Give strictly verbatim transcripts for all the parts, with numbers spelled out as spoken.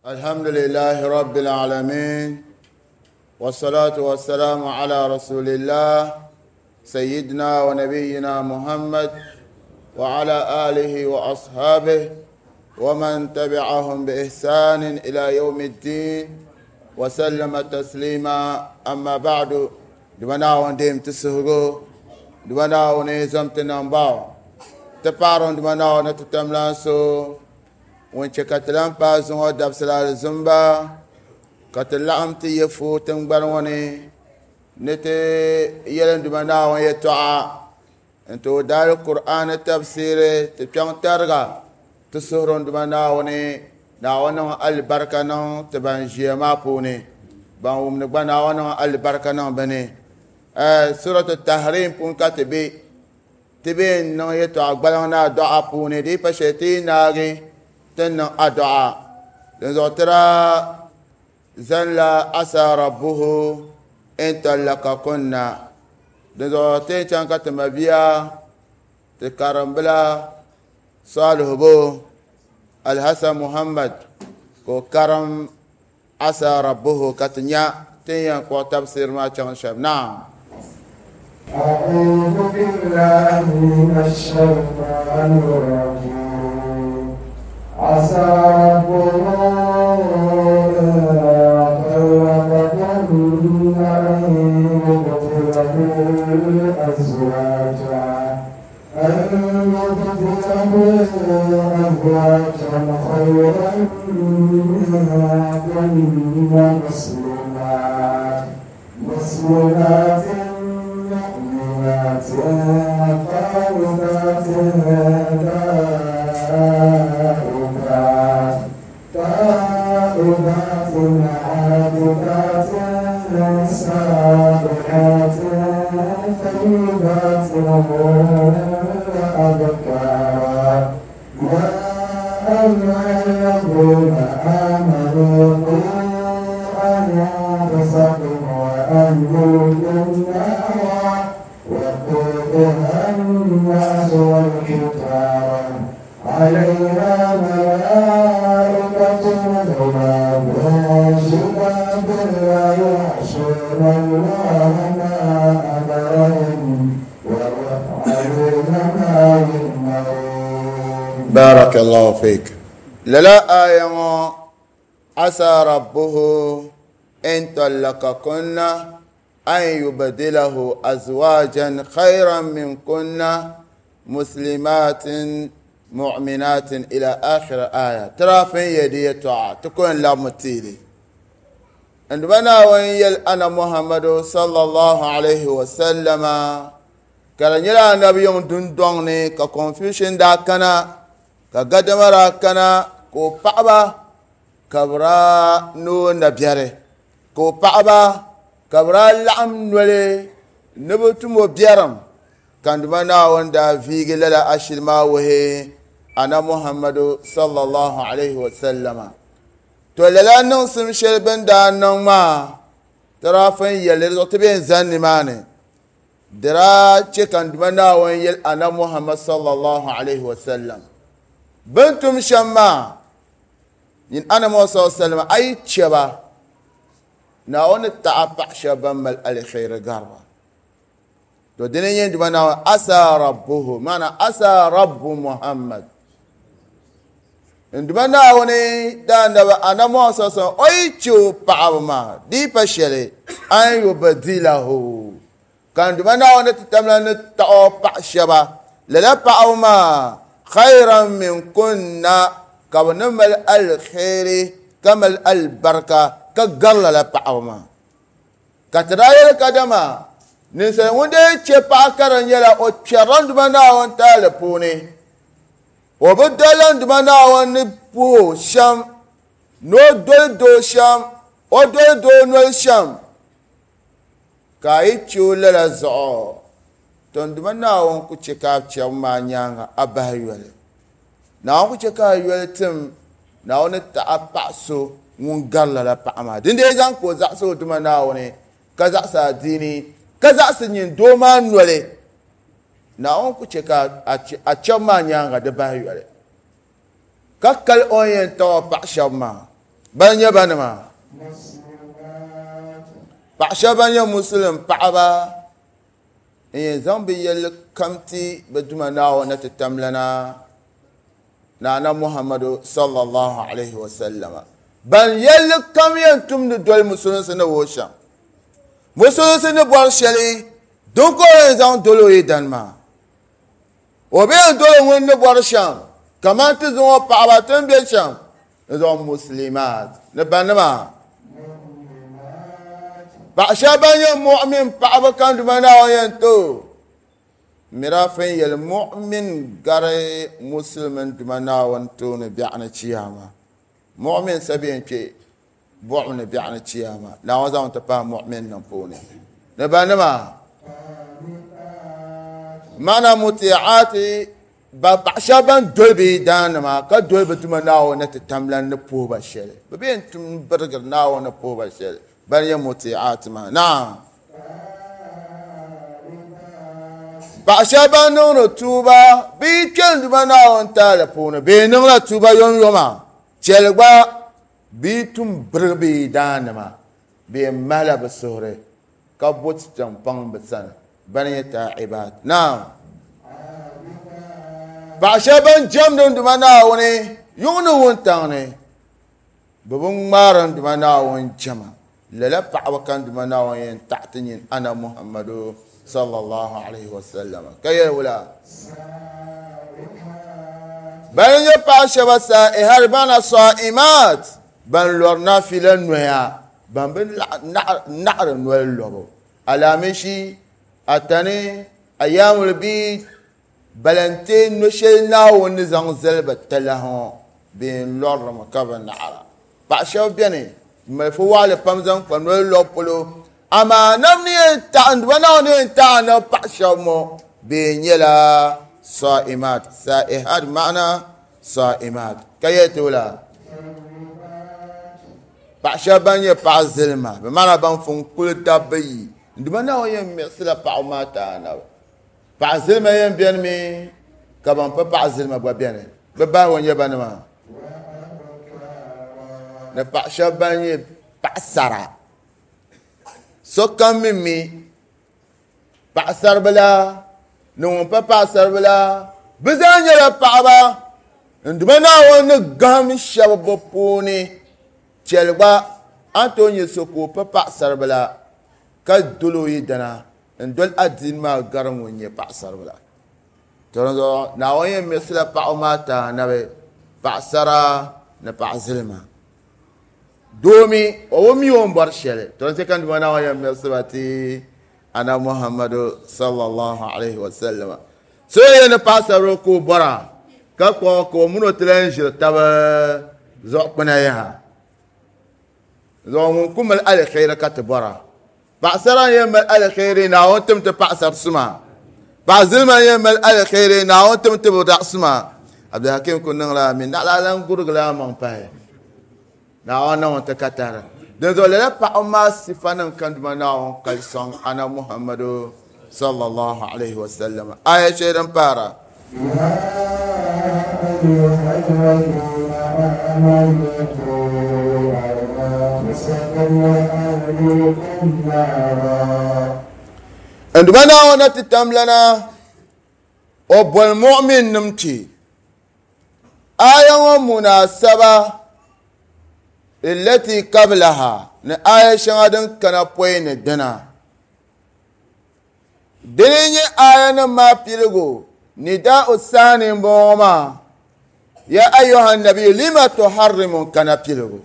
الحمد لله رب العالمين والصلاة والسلام على رسول الله سيدنا ونبينا محمد وعلى آله وأصحابه ومن تبعهم بإحسان إلى يوم الدين وسلم تسليما. أما بعد، دمنا وندم تسهرو دمنا ونزم تنباو تبارون دمنا ونتتملانسو ونشي كتلان بازون دبسلال زنبا كتلام تيفو تنبروني نتي يلن دمنا ونيتعا انتو دار القرآن التفسير تبشان ترغى تسهرون دمنا وني ناوانا البركة نو تبان جيما بوني بان ومنبا ناوانا البركة نو بني. آه سورة التحريم بون كاتبي تبين نو يتعا قبلنا دعا بوني دي فشتي ناغي تن أدعاء لنزوترا زن عسى ربه إن طلقكن لنزوتين كان كتمبيا تكرمبلا صالح بو الحسن محمد كو كرم عسى ربه كتنيا تنيا كو تفسير ما كان شب. نعم. أعوذ بالله من الشيطان الرجيم. عسى ربه إن طلقكن أن يبدله أزواجا أن يبدله أزواجا خيرا منكن مسلمات مسلمات مؤمنات قانتات تائبات تائبات عابدات سائحات ثيبات وأبكارا. يا أيها الذين آمنوا قوا أنفسكم وأهليكم نارا وقودها الناس والحجارة عليها ملائكة غلاظ شداد لا يعصون الله ما أمرهم ويفعلون ما يؤمرون. بارك الله فيك. للا آية عسى ربه إن طلقكن أن يبدله أزواجا خيرا منكن مسلمات مؤمنات إلى آخر آية. ترى في يدي تعا تكون لا متيلي عندما وين أنا محمد صلى الله عليه وسلم كان يلا النبي يوم دون دوني كconfusion دا كنا كقدمرا كنا كو بعبا كبرا نو نبيره كو بعبا كبرا لعم نولي نبتمو بيرم كان دمنا وندا في لا أشل ما وهي أنا محمد صلى الله عليه وسلم تولى ننسم شربن دا نما ترى فين يلي تبين زن ماني درا كان دمنا وين يل أنا محمد صلى الله عليه وسلم بنتم شما إن أنا محمد صلى الله عليه وسلم أي شبا ناون تعبع شبا مال الخير قربا تو دنيا دمنا عسى ربه معنى عسى رب محمد عندما وني دان أنا ما سأسأل أي شو بعض ما دي بشري أن يبدله كان دمنا وني تتمنى تأو شبا لا بعض ما خيرا من كنا كونمل الخير كمل البركة كقل لا بعض ما كترايل كدما نسأل وندي تشبع كرن يلا أو تشرن دمنا ونتالبوني وبدلن دمنا ونبو شام نو دول دو شام او دول دو نو شام كاي تشول لا زو تون دمنا ون كوتشكا تشما نيانا ابا يول نا كوتشكا يول تم نا ون تاباسو ون غالا لا باما دين دي زان كو زاسو دمنا وني كزاسا ديني كزاسا نين دوما نولي na on ku cheka a chama nyanga de ba yole ka kal on yen to pa shama Ban nyɛ banima paɣa shɛba ban nyɛ musulim paɣaba n yɛn zaŋ bi yɛlli kam ti bi duma Naawuni ti tamlana Naana Muhammadu sallallahu alaihi wa sallam. Ban yɛlli kam yɛn tumdi doli musulinsi ni wuhi shɛm, musulinsi ni bɔri shɛli din ka o yɛn zaŋ doli o yidana maa, o bi yɛn doli ŋun ni bɔri shɛm kamani ti zaŋ o paɣaba ti ni bɛ shɛm n zaŋ muslimaat ni banima paɣa shɛba ban nyɛ mu'min paɣaba kan duma Naawuni yɛn to mirafin yɛli mu'min gari musulmin duma Naawuni tooni biɛɣuni chiyaama. Mu'min sa bɛ yɛn kpɛ buɣum ni biɛɣuni chiyaama, Naawuni zaŋ ti pahi mu'min nim puuni ni banima mana muti'aati ba paɣa shɛba ban doli bi daanima ka doli bi duma Naawuni ti tamlan ni puhi ba shɛli, bi bɛ yɛn tum birigiri Naawuni ni puhi ba shɛli, ban nyɛ muti'aati maa. Naam, paɣa shɛba ban niŋdi tuuba bi yi kpɛ n duma Naawuni taali puuni bɛ niŋla tuuba yomyoma, chɛli gba bi yi tum birigi bi daanima bɛ yɛn mahila bi suhuri ka bo tichaŋ paŋ bi sani, ban nyɛ taa'ibaat. Naam, paɣa shɛba ban jɛmdi n duma Naawuni yuŋ ni wuntaŋ ni bi bi ŋmaari n duma Naawuni jɛma, lala paɣaba ka n duma Naawuni yɛn taɣi ti nyin ana Muhammadu sallallahu alaihi wa sallam. Ka yɛli wula ban nyɛ paɣa shɛba saa'ihar bana saa'imaat ban lɔri naafila noya, ban bi naɣari noli lɔbu, alaamishi, atani, ayaamul biid, balante no shɛli Naawuni ni zaŋ zali ba talahi ŋɔ bee n lɔrimi ka bi naɣara. Paɣa shɛba bɛni n mali fu waɣali pam zaŋ kpa noli lɔbu polo, amaa nam ni yɛn taɣi n duma Naawuni ni yɛn taɣi na paɣa shɛba ŋɔ bee nyɛla saa'imaat. Saa'ihat ma'ana saa'imaat. Ka yɛli ti wula paɣa shɛba ban nyɛ paɣa zilima bi maana ban fun kuli dabba yi n duma Naawuni yɛn miɣisila paɣaba maa taanabi. Paɣa zilima yɛn bɛni mi ka ban pa paɣa zilima gba bɛni, bi bahi o nyɛ banima ni paɣa shɛba ban nyɛ paɣasara. Sokam mi mi paɣasaribila ni ŋun pa paɣasaribila bi zaa nyɛla paɣaba n duma Naawuni ni gaham shɛba bi puuni. Chɛli gba a ni tooi nyɛ so ka o pa paɣasaribila ka doli o yidana n doli adiini maa gari ŋun nyɛ paɣasaribila. To dinzuɣu Naawuni yɛn miɣisila paɣaba maa taanabi paɣasara ni paɣa zilima, doomi o bi mi o ni bɔri shɛli. To din chɛ ka n duma Naawuni yɛn miɣisiba ti ana Muhammadu sallallahu alaihi wa sallam. So yɛn ni paɣasaribila ka o bɔra ka kpuɣi ka o mini o ti lan ʒiri taba zuɣu kpina yaha, zuɣu ŋun ku mali aliheri ka ti bɔra. Paɣasara n yɛn mali aliheri Naawuni tim ti paɣasari suma, paɣa zilima n yɛn mali aliheri Naawuni tim ti bi daɣu suma. Abdulhakim ku niŋla mi naɣila lan gurigila maŋ pahi Naawuni niŋ ti ka tari. Dinzuɣu lala paɣaba maa sifa nim kan duma Naawuni kali sɔŋ ana Muhammadu sallallahu alaihi wa sallam. Aya shɛli din pahara n duma Naawuni ti tamlana o boli mu'min nim ti aya ŋɔ munasaba allati qablaha ni aya shɛŋa din kana pɔi ni dina. Dini nyɛ aya nim maa piligu nidaa'u saani n bɔŋɔ maa ya ayyuhan nabiyu lima tuharrimu kana piligu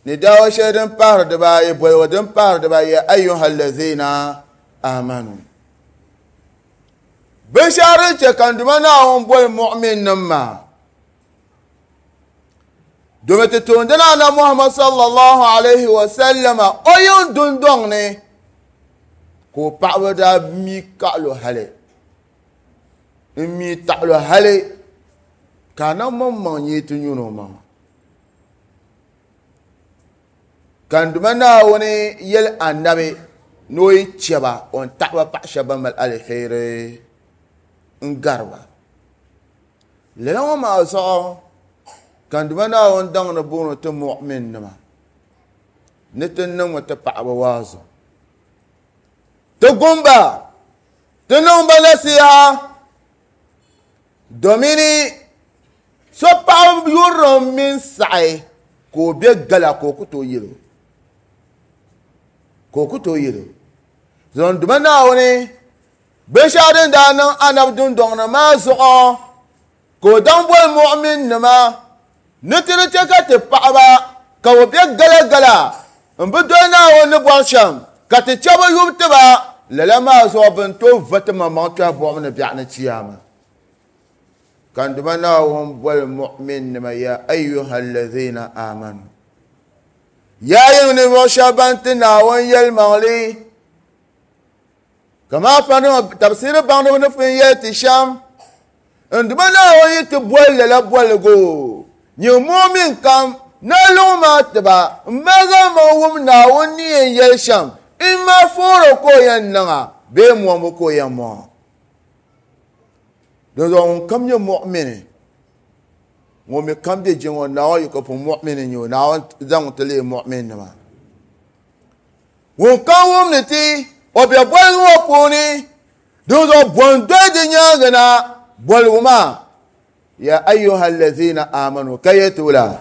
nidaa'u shɛli din pahiri dibaayi boligu din pahiri dibaayi ya ayyuhal lazina amanu. Binshɛɣu din chɛ ka n duma Naawuni boli mu'min nim maa domi ti toondina ana Muhammad sallallahu alaihi wa sallama o yiŋ dundɔŋ ni ka o paɣaba daa mi kaɣalo hali n mi taɣalo hali ka a na maŋmaŋ nyɛ ti nyuni o maŋa. Ka n duma Naawuni yɛli anabi ni o yi chɛba o ni taɣaba paɣa shɛba ban mali aliheri n gariba. Lala ŋɔ maa zuɣu Ka n Duuma Naawuni daŋ ni booni ti mu'minnima ni ti niŋmi ti paɣaba waazu. Ti gumba, ti niŋ ba nasiha domini so paɣaba yurilim mini saɣi ka o be gala ka o ku tooi yɛl o. Ka o ku tooi yɛl o. Zuɣu n Duuma Naawuni binshɛɣu din daa niŋ anabi dundɔŋ ni maa zuɣu ka o daŋ boli mu'minnima ni ti di chɛ ka ti paɣaba ka bi be gala gala n bi doli Naawuni ni bɔri shɛm ka ti chɛ bi yubu tiba lala maa zuɣu bɛ ni tooi va ti maŋmaŋ tɔhi buɣim ni biɛɣu ni chiyaama. Ka n Duuma Naawuni boli mu'minnima ya ayyuha allazina amanu. Yaa yiŋ ninvuɣu shɛba ban ti Naawuni yɛlimaŋli kama fanima tafsiri baŋdiba ni pun yɛli ti shɛm n Duuma Naawuni yi ti boli lala boligu nyɛ mu'min kam na luŋ maa tiba n ma zaŋ maŋ wum Naawuni ni yɛn yɛli shɛm in ma fooro ka o yɛn niŋa bee mɔŋbu ka o yɛn mɔŋa. Dinzuɣu ŋun kam nyɛ mu'mini ŋun mi kam be jiŋ ŋɔ Naawuni yi ka pun mu'mini n-nyɛ o Naawuni zaŋ ti leei mu'minnima. Ŋun kam wum ni ti o be boligu ŋɔ puuni dinzuɣu bɔn doli di nyaaŋa na boligu maa ya ayyuha allazina amanu ka yɛ ti wula.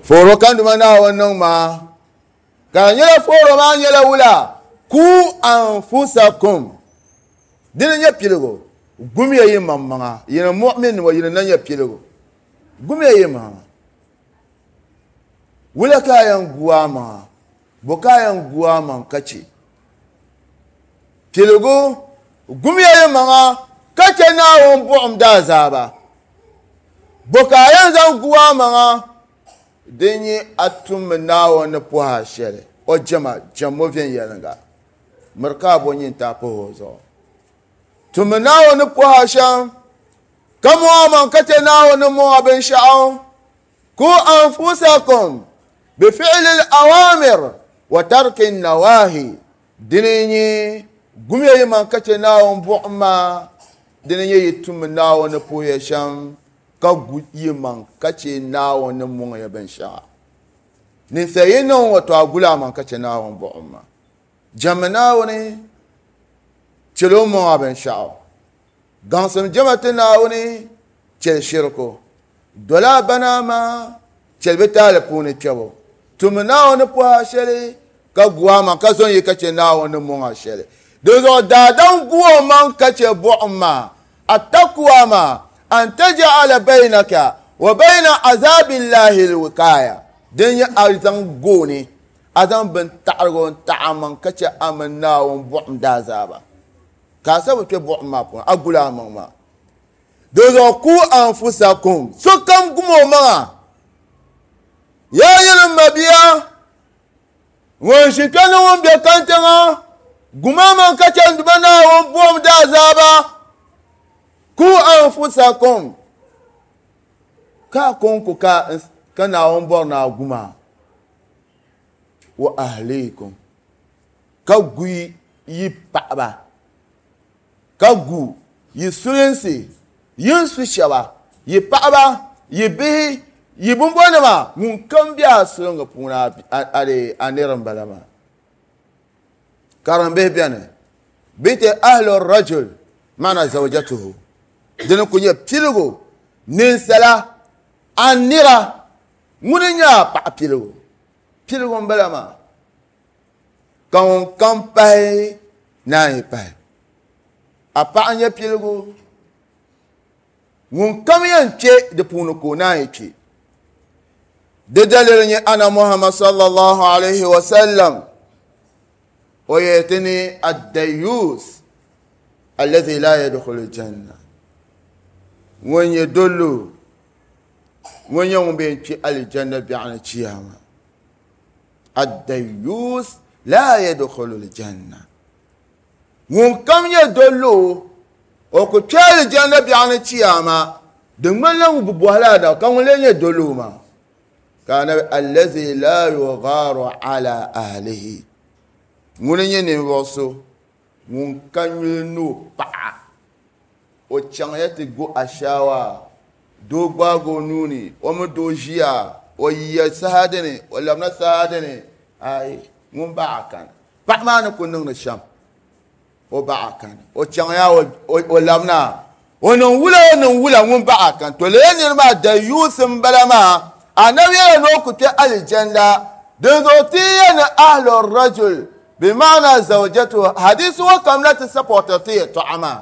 Fooro ka n Duuma Naawuni niŋ maa ka di nyɛla fooro maa nyɛla wula ku anfusakum dini nyɛ piligu gumiya yi maŋmaŋa yini mu'minnima yini na nyɛ piligu gumiya yi maŋa wula ka a yɛn gu a maŋa bo ka a yɛn gu a maŋ ka chɛ piligu gumiya yi maŋa ka chɛ Naawuni buɣim daazaaba bo ka a yɛn zaŋ gu a maŋa din nyɛ a tummi Naawuni ni pɔhi a shɛli o jɛma jɛmmo viɛnyɛliŋga miri ka a bo nyintaa pahi o zuɣu tummi Naawuni ni pɔhi a shɛm ka mɔŋ a maŋ ka chɛ Naawuni ni mɔŋ a binshɛɣu ku anfusakum bifi'li al-awamir wa tarki nawahi dini nyɛ gumiya yi maŋ ka chɛ Naawuni buɣim maa dini nyɛ yi tummi Naawuni ni puhiya shɛm ka gu yi maŋ ka chɛ Naawuni ni mɔŋ ya binshɛɣu ninsal yi niŋ ŋɔ to a guli a maŋ ka chɛ Naawuni buɣim maa jɛmmi Naawuni chɛl o mɔŋ a binshɛɣu gaŋsim jɛma ti Naawuni chɛli shiriku doli a bana maa chɛli bi taali puuni kpɛbu tummi Naawuni ni pɔhi a shɛli ka gu a maŋ ka zɔn yi ka chɛ Naawuni ni mɔŋ a shɛli dinzuɣu daadam gu o maŋ ka chɛ buɣim maa attakuwa maa an taj'ala baynaka wa bayna azabillahi alwiqaya din nyɛ a zaŋ gooni a zaŋ bin taɣirigu n taɣi a maŋ ka chɛ a mini Naawuni buɣim daazaaba ka a sa bi kpɛ buɣim maa puuni a guli a maŋ maa dinzuɣu ku anfusakum sokam gum o maŋa yaa nyini m mabia ŋun ʒi kpɛ ni ŋun be kantiŋa gum a maŋ ka chɛ n Duuma Naawuni buɣim daazaaba ku anfusakum ka kɔŋko ka ka Naawuni bɔri ni a guma wa ahlikum ka gu yi paɣaba ka gu yi sulinsi yin su shɛba yi paɣaba yi bihi yi bimbɔnima ŋun kam be a sulinga puuni a nira m-bala maa karimbihi beni bɛ ti ahlu rajul maana zawjatuhu dini ku nyɛ piligu ninsala a nira ŋuni nyɛ a paɣa piligu piligu m-bala maa ka ŋun kam pahi naan yi pahi a paɣa nyɛ piligu ŋun kam yɛn kpe di puuni ka o naan yi kpe di dalili nyɛ ana Muhammad sallallahu alayhi wa sallam o yɛli ti ni ad-dayyus alladhi la yadkhulu janna ŋun nyɛ dollo ŋun nyɛ ŋun bɛ kpe alijanna biɛɣu ni chiyaama ad-dayyus la yadkhulu al-janna ŋun kam nyɛ dollo o ku kpe alijanna biɛɣu ni chiyaama di ŋmanila ŋun bi bɔhila a da ka ŋun lee nyɛ dollo maa ka anabi allazi la yugharu ala ahlihi ŋuni nyɛ ninvuɣu so Ŋun ka nyuli ni o paɣa o chaŋya ti go ashaawa doo gbaagi o nuuni o mi doo ʒiya o yiya saha dini o labina saha dini ai ŋun baɣa kani paɣa maa ni ku niŋdi shɛm o baɣa kani o chaŋya o labina o niŋ wula o niŋ wula ŋun baɣa kani to lee niri maa da yuusi n bala maa anabi yɛla ni o ku kpɛ alijanda dinzuɣu ti yɛ ni ahlu rajul bimaana zawjatu hadisi ŋɔ kam na ti sapɔtiri ti yɛltɔɣa maa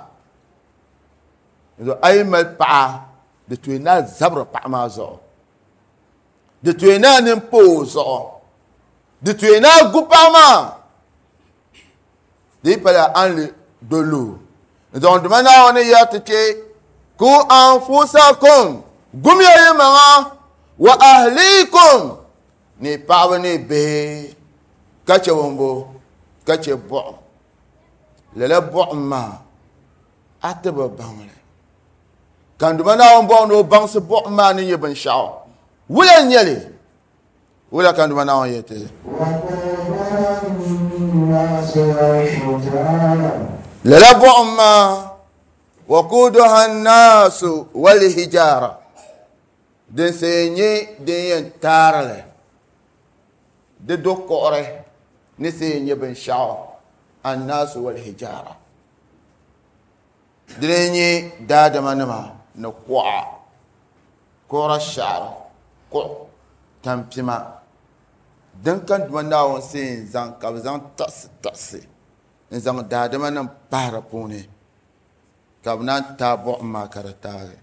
a yi mali paɣa di tooi na zabiri paɣa maa zuɣu di tooi na nin pa o zuɣu di tooi na gu paɣa maa di yi pala a ni dolo n-zaŋ duma Naawuni yɛri ti kpe ku anfusakum gumiya yi maŋa wa ahlikum ni paɣaba ni bihi ka che bɔmbo ka che buɣum lala buɣum maa a ti bi baŋli ka n duma Naawuni bɔŋ ni o baŋsi buɣum maa ni nyɛ binshaɣu wula n nyɛli wula ka n duma Naawuni yɛli ti lala buɣum maa waquduha nnaasu walhijara din see nyɛ din yɛn taarili di do kuɣuri ni see nyɛ binshaɣu annaasu walhijara dini nyɛ daadama nima ni kuɣa kuɣura shaɣari kuɣu tampima din ka duma Naawuni see n zaŋ ka bi zaŋ taɣasi taɣasi n zaŋ daadama nim pahi di puuni ka bi naan taai buɣum maa ka di taagi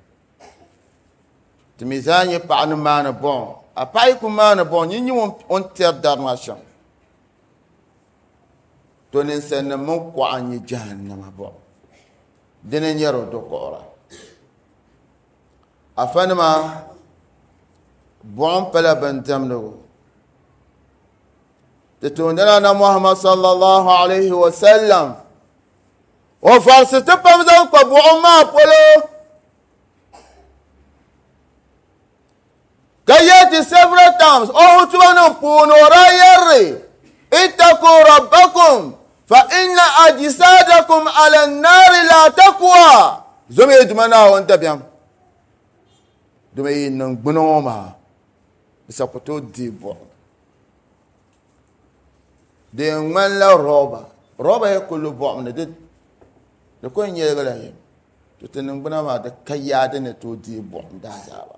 ti mi zaa nyɛ paɣa ni maani buɣum a paɣa yi ku maani buɣum nyin nyɛ o ni tɛri dari maa shɛm to ninsalinima mini kuɣa n nyɛ jahannama buɣum dini n nyɛ di do kuɣura afanima buɣum pala bin diɛmdigu ti toondana na Muhammad sallallahu alaihi wa sallam o farisi ti pam zaŋ kpa buɣum maa polo ka yɛti several times o hutuba nim puuni o daa yɛrri ittaqu rabbakum fa inna ajsadakum ala nnaari la taqwa zomi duma Naawuni dabiɛm duma yi niŋ gbuni ŋɔ maa bisa ku tooi deei buɣum di yɛn ŋmanila rɔba rɔba yi ku lu buɣum ni di di ku nyɛligila yim to ti niŋgbuna maa di ka yaa di ni tooi deei buɣum daazaaba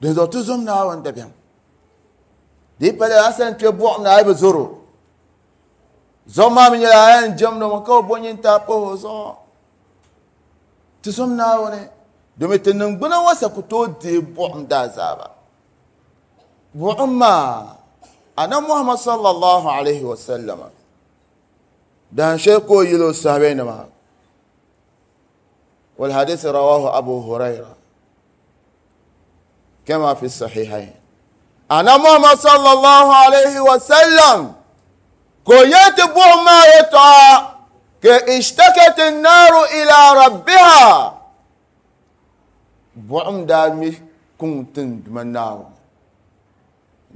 dinzuɣu ti zom Naawuni dabiɛm di yi pala a sani kpɛ buɣum ni a yi bi zoro zuɣu maa mi nyɛla a yɛn jɛmdi mi ka o bo nyintaa pahi o zuɣu ti zom Naawuni domi ti niŋgbuna ŋɔ sa ku tooi deei buɣum daazaaba buɣum maa ana Muhammad sallallahu alaihi wa sallam dan shɛli ka o yili o sahabanima wal hadith rawahu Abu Huraira kama fi sahihain ana Muhammad sallallahu alaihi wa sallam ko yɛti buɣum maa yɛtɔɣa ka ishtakat an-naru ila rabbiha buɣum daa mi kuŋ tin duma Naawuni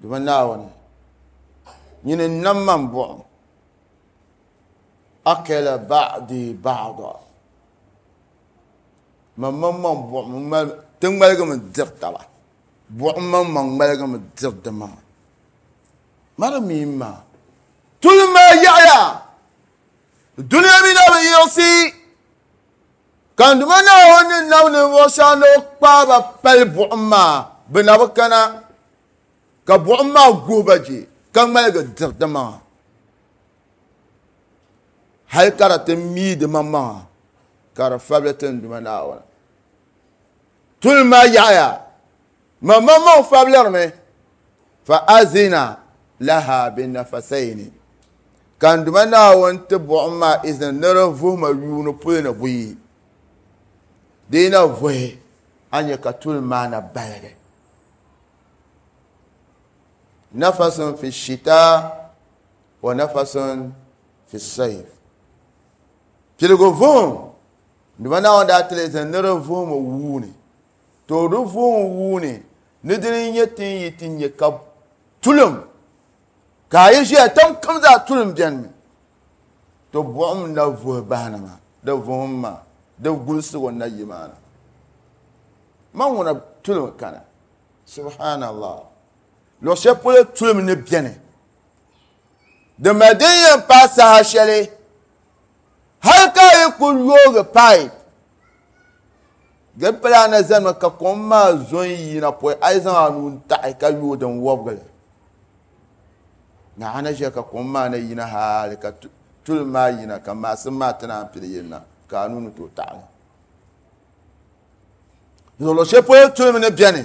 duma Naawuni nyini n nam man buɣum akala ba'di ba'da man man man buɣum ti ŋmaligimi diri taba buɣum man man ŋmaligimi diri di maŋa mara mi maa tulim maa yaɣaya duniya mi na bi yiɣisi ka n duma Naawuni ni nam ninvuɣu shɛŋa ni o kpaaba pali buɣum maa bi na bi kana ka buɣum maa guhi ba je ka ŋmaligi diri di maŋa hali ka di ti mii di maŋmaŋa ka di fabili ti n duma Naawuni tulim maa yaɣaya man maŋ maŋ fabilirimi fa azina laha binafasayni ka n duma Naawuni ti buɣum maa izini ni di vuhima yuuni puli ni buyi di yi na vuhi a nyɛ ka tulim maa na baligi nafasun fi shita wa nafasun fi sayf piligu vuhim duma Naawuni daa tili izini ni di vuhima wuuni to di vuhim wuuni ni dini nyɛ tin yi ti nyɛ ka tulim ka a yi ʒiya tam kam zaa tulim biɛni mi To buɣum na vuhi bahina maa di vuhim maa di gulisigu na yi maa na man ŋuna tulim kana subhanallah luɣu shɛli polo tulim ni biɛni di mali din yɛn paai saha shɛli hali ka a yi ku yoogi pipe di pala na zanimi ka kom maa zo n yina pɔi a yi zaŋ a nuu taɣi ka yooi din wɔbgili na a na ʒiya ka kom maa na yina hali ka tulim maa yina ka maasim maa ti naan pili yirina ka a nuu ni tooi taɣali luɣu shɛli polo tulim ni biɛni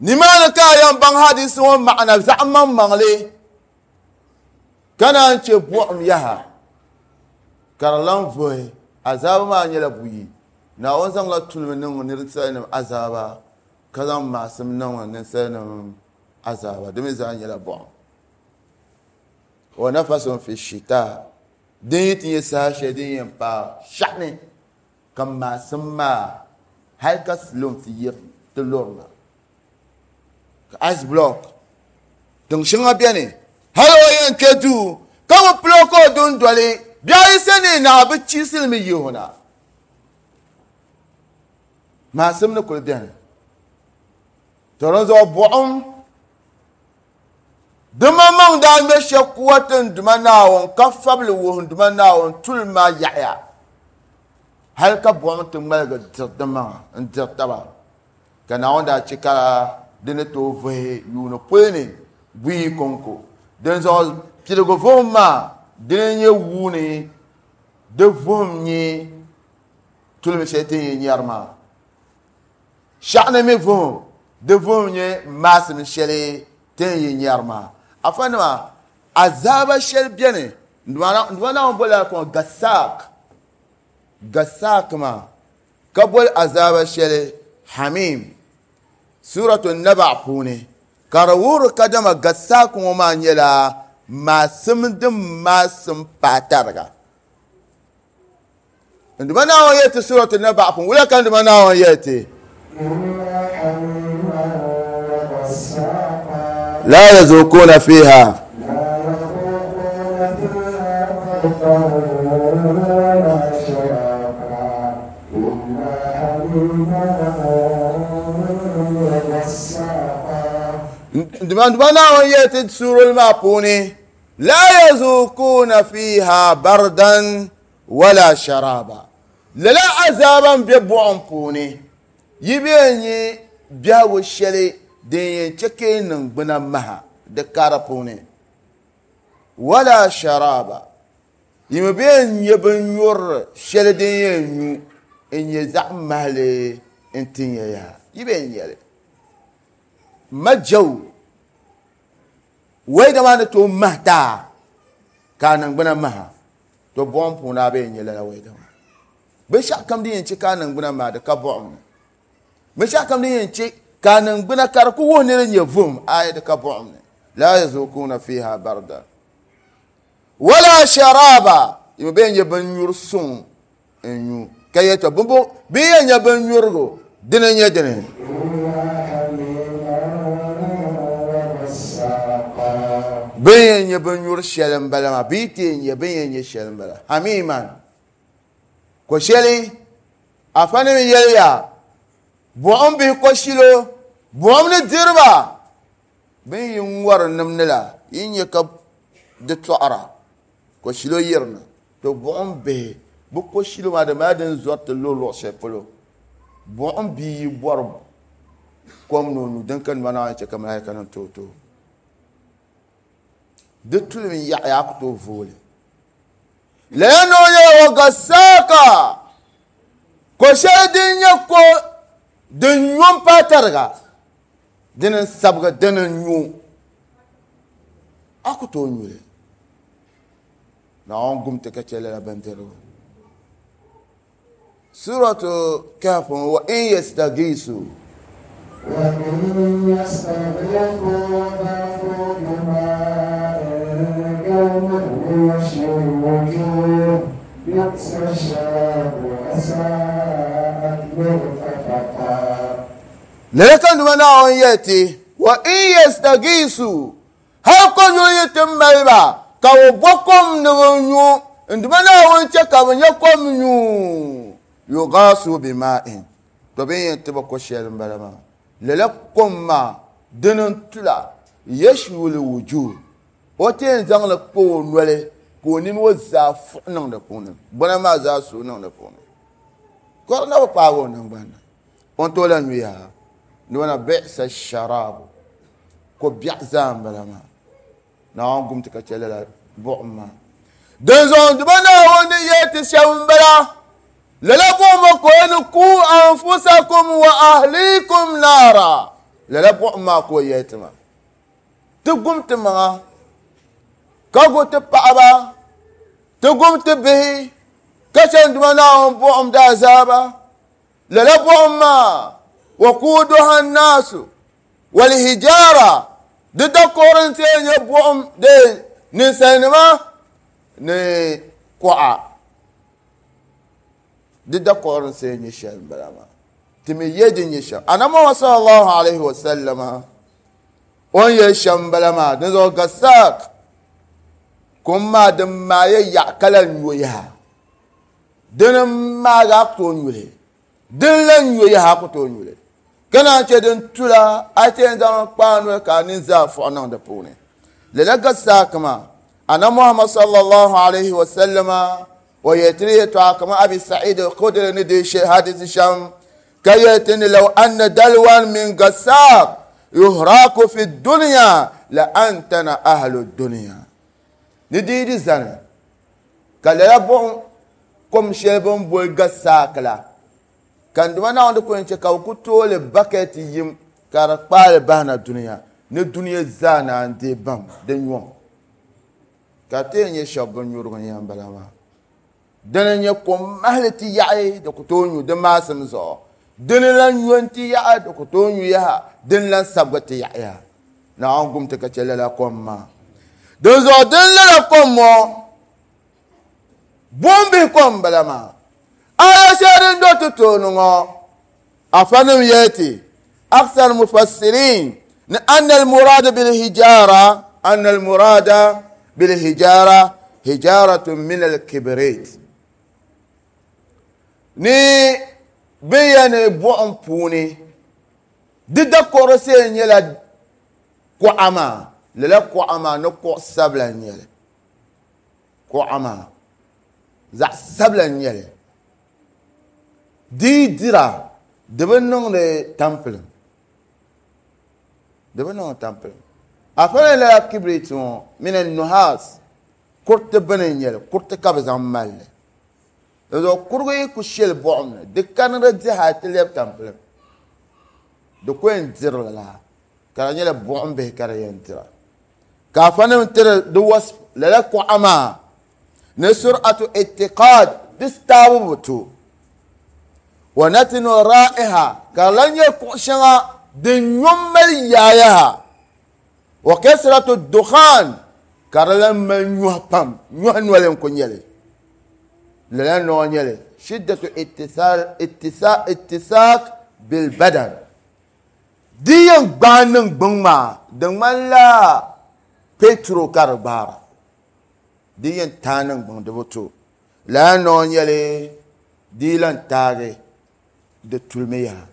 nimaani ka a yɛn baŋ hadisi ŋɔ maɣana zaɣ maŋmaŋli ka naan chɛ buɣum yaha ka di lan vuhi azaaba maa nyɛla buyi Naawuni zaŋla tulimi niŋ ninsalinima azaaba ka zaŋ maasim niŋ ninsalinima azaaba di mi zaa nyɛla buɣum wa nafasun fi shita din yi ti nyɛ saha shɛli din yɛn paai shɛɣuni ka maasim maa hali ka silom ti yiri ti lurina ka ice block tiŋ shɛŋa biɛni hali o yɛn kpɛ duu ka bi pilo ka o dundoli bihi ayi sani naa bi chiisilimi yihi na maasim ni kuli biɛni to di zuɣu buɣum di maŋmaŋ daa ŋmɛ shɛli kuwa ti n duma Naawuni ka fabili wuhi n duma Naawuni tuli maa yaɣaya hali ka buɣum ti ŋmaligi diri di maŋa n diri taba ka Naawuni daa chɛ ka di ni tooi vuhi yuuni puli ni buyi konko din zuɣu piligu vuhim maa dini n nyɛ wuuni di vuhim nyɛ tulimi shɛli ti ni yɛn nyɛri maa shɛɣuni mi vuhim di vuhim nyɛ maasim shɛli ti ni yɛn nyɛri maa afa nima azaaba shɛli biɛni nduma Naawuni bolila kɔŋ gasaak gasaak maa ka boli azaaba shɛli hamim suratu naba puuni ka di wuhiri kadama gasaak ŋɔ maa nyɛla maasim din maasim paai tariga nduma Naawuni yɛli ti suratu naba puuni wula ka nduma Naawuni yɛli ti la yazuquna fiha nduma Naawuni yɛli ti suurili maa puuni la yazuquna fiha bardan wala sharaba lala azaaba n bɛ buɣum puuni yi bɛ nyɛ biɛhigu shɛli din yɛn chɛ ka yi niŋgbuna maha di kara puuni wala sharaba yi mi bɛ nyɛ binnyurili shɛli din yɛn nyu n nyɛ zaɣ mahali n tin ya yaha yi bɛ nyɛli majaw wɛda maa ni tooi mahi taa ka a niŋgbuna maha to buɣum puuni a bɛ nyɛ lala wɛda maa binshɛɣu kam din yɛn chɛ ka a niŋgbuna maha di ka buɣum ni binshɛɣu kam din yɛn chɛ ka a niŋgbuna ka di ku wuhi ni di nyɛ vuhim ayi di ka buɣum ni la yazuquna fiha barda wala sharaba yi bɛ nyɛ binnyuri suŋ n nyu ka yɛ to bi yɛn nyɛ binnyurigu dini n nyɛ dini bin yɛn nyɛ binnyuri shɛli n bala maa bi ti yɛn nyɛ bin yɛn nyɛ shɛli n bala hamiman ko shɛli afa nim yɛliya buɣum bihi ko shilo buɣum ni diriba bin yi ŋɔri nim ni la yi nyɛ ka di tɔɣira ko shilo yirina to buɣum bihi bi ko shilo maa di mali din zɔri ti luɣi luɣi shɛli polo buɣum bia yi bɔri kom ni o nyu din ka nima Naawuni chɛ ka malaika nim tooi tooi di tulimi yaɣaya a ku tooi vooli lala ni o nyɛla wa gasaaka ko shɛli din nyɛ ko din nyo n paai tariga dini n sabigi dini n nyo a ku tooi nyuli Naawuni gum ti ka chɛ lala bindirigu suratu Kahf wa in yastagiisu وإن يستغيثوا يغاثوا بماء كالمهل يشوي الوجوه بئس الشراب وساءت مرتفقا lala ka nduma Naawuni yɛli ti wa in yastagiisu hali ko yuli yi ti mali ba Ka bɛ bo kom ni bɛ nyu n-dima Naawuni chɛ ka bɛ nya kom nyu yugaasu bima'in. To bɛ yɛn ti ba ko shɛli m-bala maa. Lala kom maa dini n-tula yashwil wujuh. O ti yɛn zaŋ li kpa o noli ka o nini o zaa fuɣi niŋ di puuni. Bɔna maa zaa suui niŋ di puuni. Kɔri na bi paagi o ningbani ni. O ni tooi lan nyu yaha. N-dima bi'sa sharaabu. Ko biɛɣu zaa m-bala maa. Naawuni gum ti ka chɛ lala buɣim maa. Dinzuɣu n-dima Naawuni ni yɛli ti shɛm m-bala. Lala buɣim maa ka o ni ku anfusakum wa ahlikum naara. Lala buɣim maa ka o yɛli ti maa. Ti gum ti maŋa ka gu ti paɣaba, ti gum ti bihi ka chɛ n-dima Naawuni buɣim daazaaba. Lala buɣim maa waquuduha nnaasu walhijaara di dakɔri n-ti yɛn nyɛ buɣim de ninsalinima ni kuɣa. Di dakɔri n-ti yɛn nyɛ shɛli m-bala maa. Ti mi ye di nyɛ shɛm. Annabi Muhammad sallallahu alaihi wa sallama o ni yɛli shɛm m-bala maa. Dinzuɣu gasaak kum maa din maaya yaɣa ka lan nyo yaha. Dini m-maagi a ku tooi nyuli. Din lan nyo yaha a ku tooi nyuli. Ka naan chɛ din tula a ti yɛn zaŋ kpaa noli ka a nini zaa fuɣi niŋ di puuni. Lala gasaak maa Annabi Muhammad sallallahu alaihi wa sallama o yɛli ti ni yɛltɔɣa kaman Abi Sa'id al-Khudri ni deei shɛli hadisi shɛm ka yɛli ti ni law anna dalwan min gasaak yuhraku fi dunya la antana ahlu dunya. Ni di di zani ka lala buɣim kom shɛli bɛ ni boli gasaak la ka n-dima Naawuni di ku yɛn chɛ ka bɛ ku tooi li bakɛti yim ka di kpaali bahina dunia ni dunia zaa naan deei baŋ di nyɔŋ. Ka ti yɛn nyɛ shɛba bɛ nyurigu n-yɛn bala maa. Dini n-nyɛ kom mahili ti yaɣi di ku tooi nyu di maasim zuɣu. Dini lan nyo n-ti yaɣi di ku tooi nyu yaha. Dini lan sabigi ti yaɣi yaha. Naawuni gum ti ka chɛ lala kom maa. Dinzuɣu din lala kom ŋɔ buɣim bihi kom m-bala maa. Aya shɛli din do ti tooni ŋɔ afanim yɛli ti aksar mufassirin ni anna al-murada bil-hijara anna al-murada bil-hijara hijaratun min al-kibrit. Ni bɛ yɛn ni buɣim puuni di dakɔro see nyɛla kuɣa maa. Lala kuɣa maa ni kuɣ sabila n-nyɛli. Kuɣa maa zaɣ sabila n-nyɛli. Di yi dira di bi niŋdi tampilim. Di bi niŋdi tampilim. Afana lala kibrit ŋɔ mini nuhas kuriti bini n-nyɛli. Kuriti ka bɛ zaŋ mali li. Dinzuɣu kurigu yi ku shɛli buɣim ni di kani di dihi a ti lɛbi tampilim. Di ku yɛn diri li la ka di nyɛla buɣim bihi ka di yɛn dira. Ka afanim tiri di wasf lala kuɣa maa ni sur'atu itiqad di staabu bi to. Wa natinu ra'iha ka di lan nyɛ kuɣ shɛŋa din nyo mali yaayaha. Wa kasratu dukhan ka di lan mali nyɔhi pam. Nyɔhi noli n-ku nyɛli. Lala noo nyɛli shiddatu ittisal ittisak bil badan. Di yɛn gbaai niŋgbuŋ maa di ŋmanila petro ka di gbaara. Di yɛn taai niŋgbuŋ di bi to. Lala noo nyɛli di lan taagi di tulimi yaha.